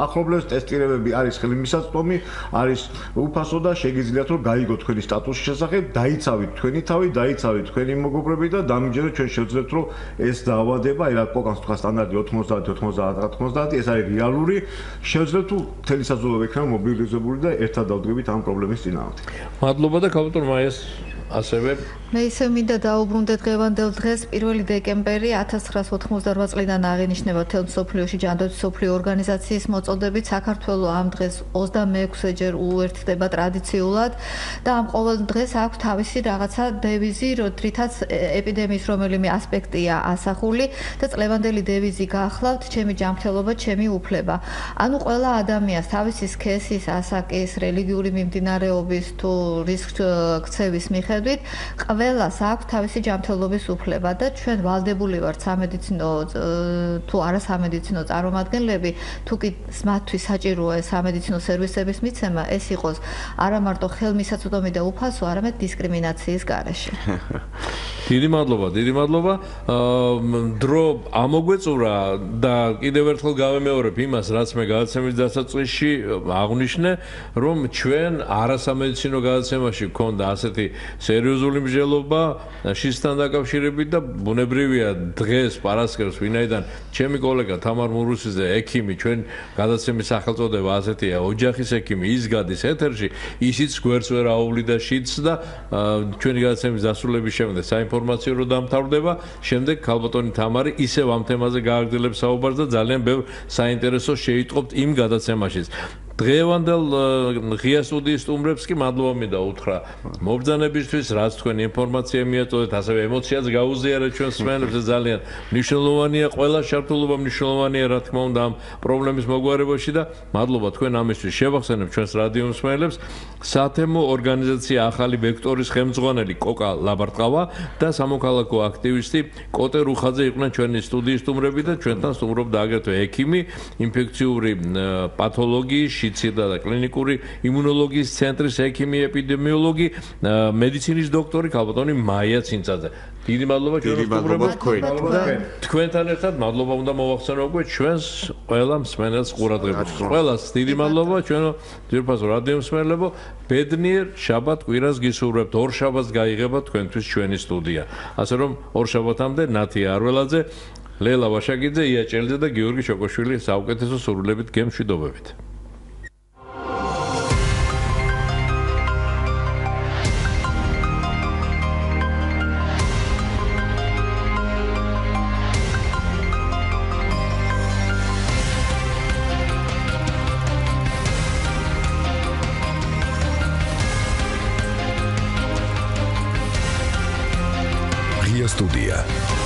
ახლობლებს, ტესტირებები არის ხელმისაწვდომი, არის უფასო და შეგიძლიათ რომ გაიგოთ თქვენი სტატუსის შესახებ, დაიცავით თქვენი თავი, დაიცავით თქვენი მეგობრები და დამიჯეროთ ჩვენ შევძლებთ რომ ეს დაავადება, აი რა კოკანს თქვა სტანდარტი 90 ეს არის რეალური, შევძლებთ თუ მთელი საზოგადოება იქნება მობილიზებული და ერთად დავდგებით ამ პრობლემის წინააღმდეგ. მადლობა და ქალბატონ მაიას ასევე მე ისევ მინდა დაუბრუნდე დღევანდელ დღეს 1 დეკემბერი 1988 წლიდან აღინიშნება მთელ მსოფლიოში ჯანდაცვის მსოფლიო ორგანიზაციის მოწოდებით. საქართველოს ამ დღეს 26-ჯერ უერთდება ტრადიციულად და ამ ყოველ დღეს აქვს თავისი რაღაცა დევიზი, რითაც ეპიდემიის რომელიმე ასპექტია ასახული და წლევანდელი დევიზი გახლავთ ჩემი ჯანმრთელობა, ჩემი უფლება. ანუ ყველა ადამიანს თავისი სქესის, ასაკის, რელიგიური მიმდინარეობის თუ რისკ ქცევის მიხედვით ყველას აქვს თავისი ჯანმრთელობის უფლება და ჩვენ ვალდებული ვართ სამედიცინო თუ არა სამედიცინო წარმომადგენლები, თუ კი მათთვის საჭიროა სამედიცინო სერვისების მიცემა, ეს იყოს არა მარტო ხელმისაწვდომი და უფასო, არამედ დისკრიმინაციის გარეშე. დიდი მადლობა. დრო ამოგვეწურა და კიდევ ერთხელ გავემეორებ იმას, რაც მე გადაცემის დასაწყისში აღვნიშნე, რომ ჩვენ არასამედიცინო გადაცემაში გქონდა ასეთი სერიოზული მსჯელობა შისთან დაკავშირებით და ბუნებრივია დღეს პარასკევს ვინაიდან ჩემი კოლეგა თამარ მურუსიძე ექიმი ჩვენ გადაცემის სახელწოდება ასეთია ოჯახის ექიმი ის გადის ეთერში ისიც გვერდს ვერ აუვლიდა შიდს და ჩვენი გადაცემის დასრულების შემდეგ საინფორმაციო რო დამთავრდება შემდეგ ქალბატონი თამარი ისევ ამ თემაზე გააგრძელებს საუბარს და ძალიან ბევრ საინტერესოს შეიტყობთ იმ გადაცემაშიც დღევანდელ ღია სტუდიის სტუმრებს კი მადლობა მინდა უთხრა მობრძანებისთვის, რაც თქვენ ინფორმაცია მიაწოდეთ, ასევე ემოციაც გაუზიარეთ ჩვენს მსმენელებს, ძალიან მნიშვნელოვანია, ყველა ჩართულობა მნიშვნელოვანია, რა თქმა უნდა, ამ პრობლემის მოგვარებაში და მადლობა თქვენ ამისთვის. შევახსენებ ჩვენს რადიო მსმენელებს, სათემო ორგანიზაცია ახალი ვექტორის ხელმძღვანელი კოკა ლაბარტყავა და სამოქალაქო აქტივისტი კოტე რუხაძე იყვნენ ჩვენი სტუდიის სტუმრები და ჩვენთან სტუმრობდა აგრეთვე ექიმი, ინფექციური პათოლოგიის შიცირდა და კლინიკური იმუნოლოგიის ცენტრის ექიმი ეპიდემიოლოგი მედიცინის დოქტორი ქალბატონი მაია ცინცაძე. დიდი მადლობა თქვენთან ერთად მადლობა უნდა მოვახსენო უკვე ჩვენს ყველა მსმენელს ყურადღებას. ყველას დიდი მადლობა ჩვენო ძირფასო რადიო მსმენელებო ბედნიერ შაბათ კვირას გისურვებთ. ორ შაბათს გაიღება თქვენთვის ჩვენი სტუდია. ასე რომ ორ შაბათამდე ნათია არველაძე, ლელა ვაშაკიძე, ია ჭელიძე და გიორგი შოკოშვილი საუკეთესო სურვილებით გემშვიდობებით. Студия.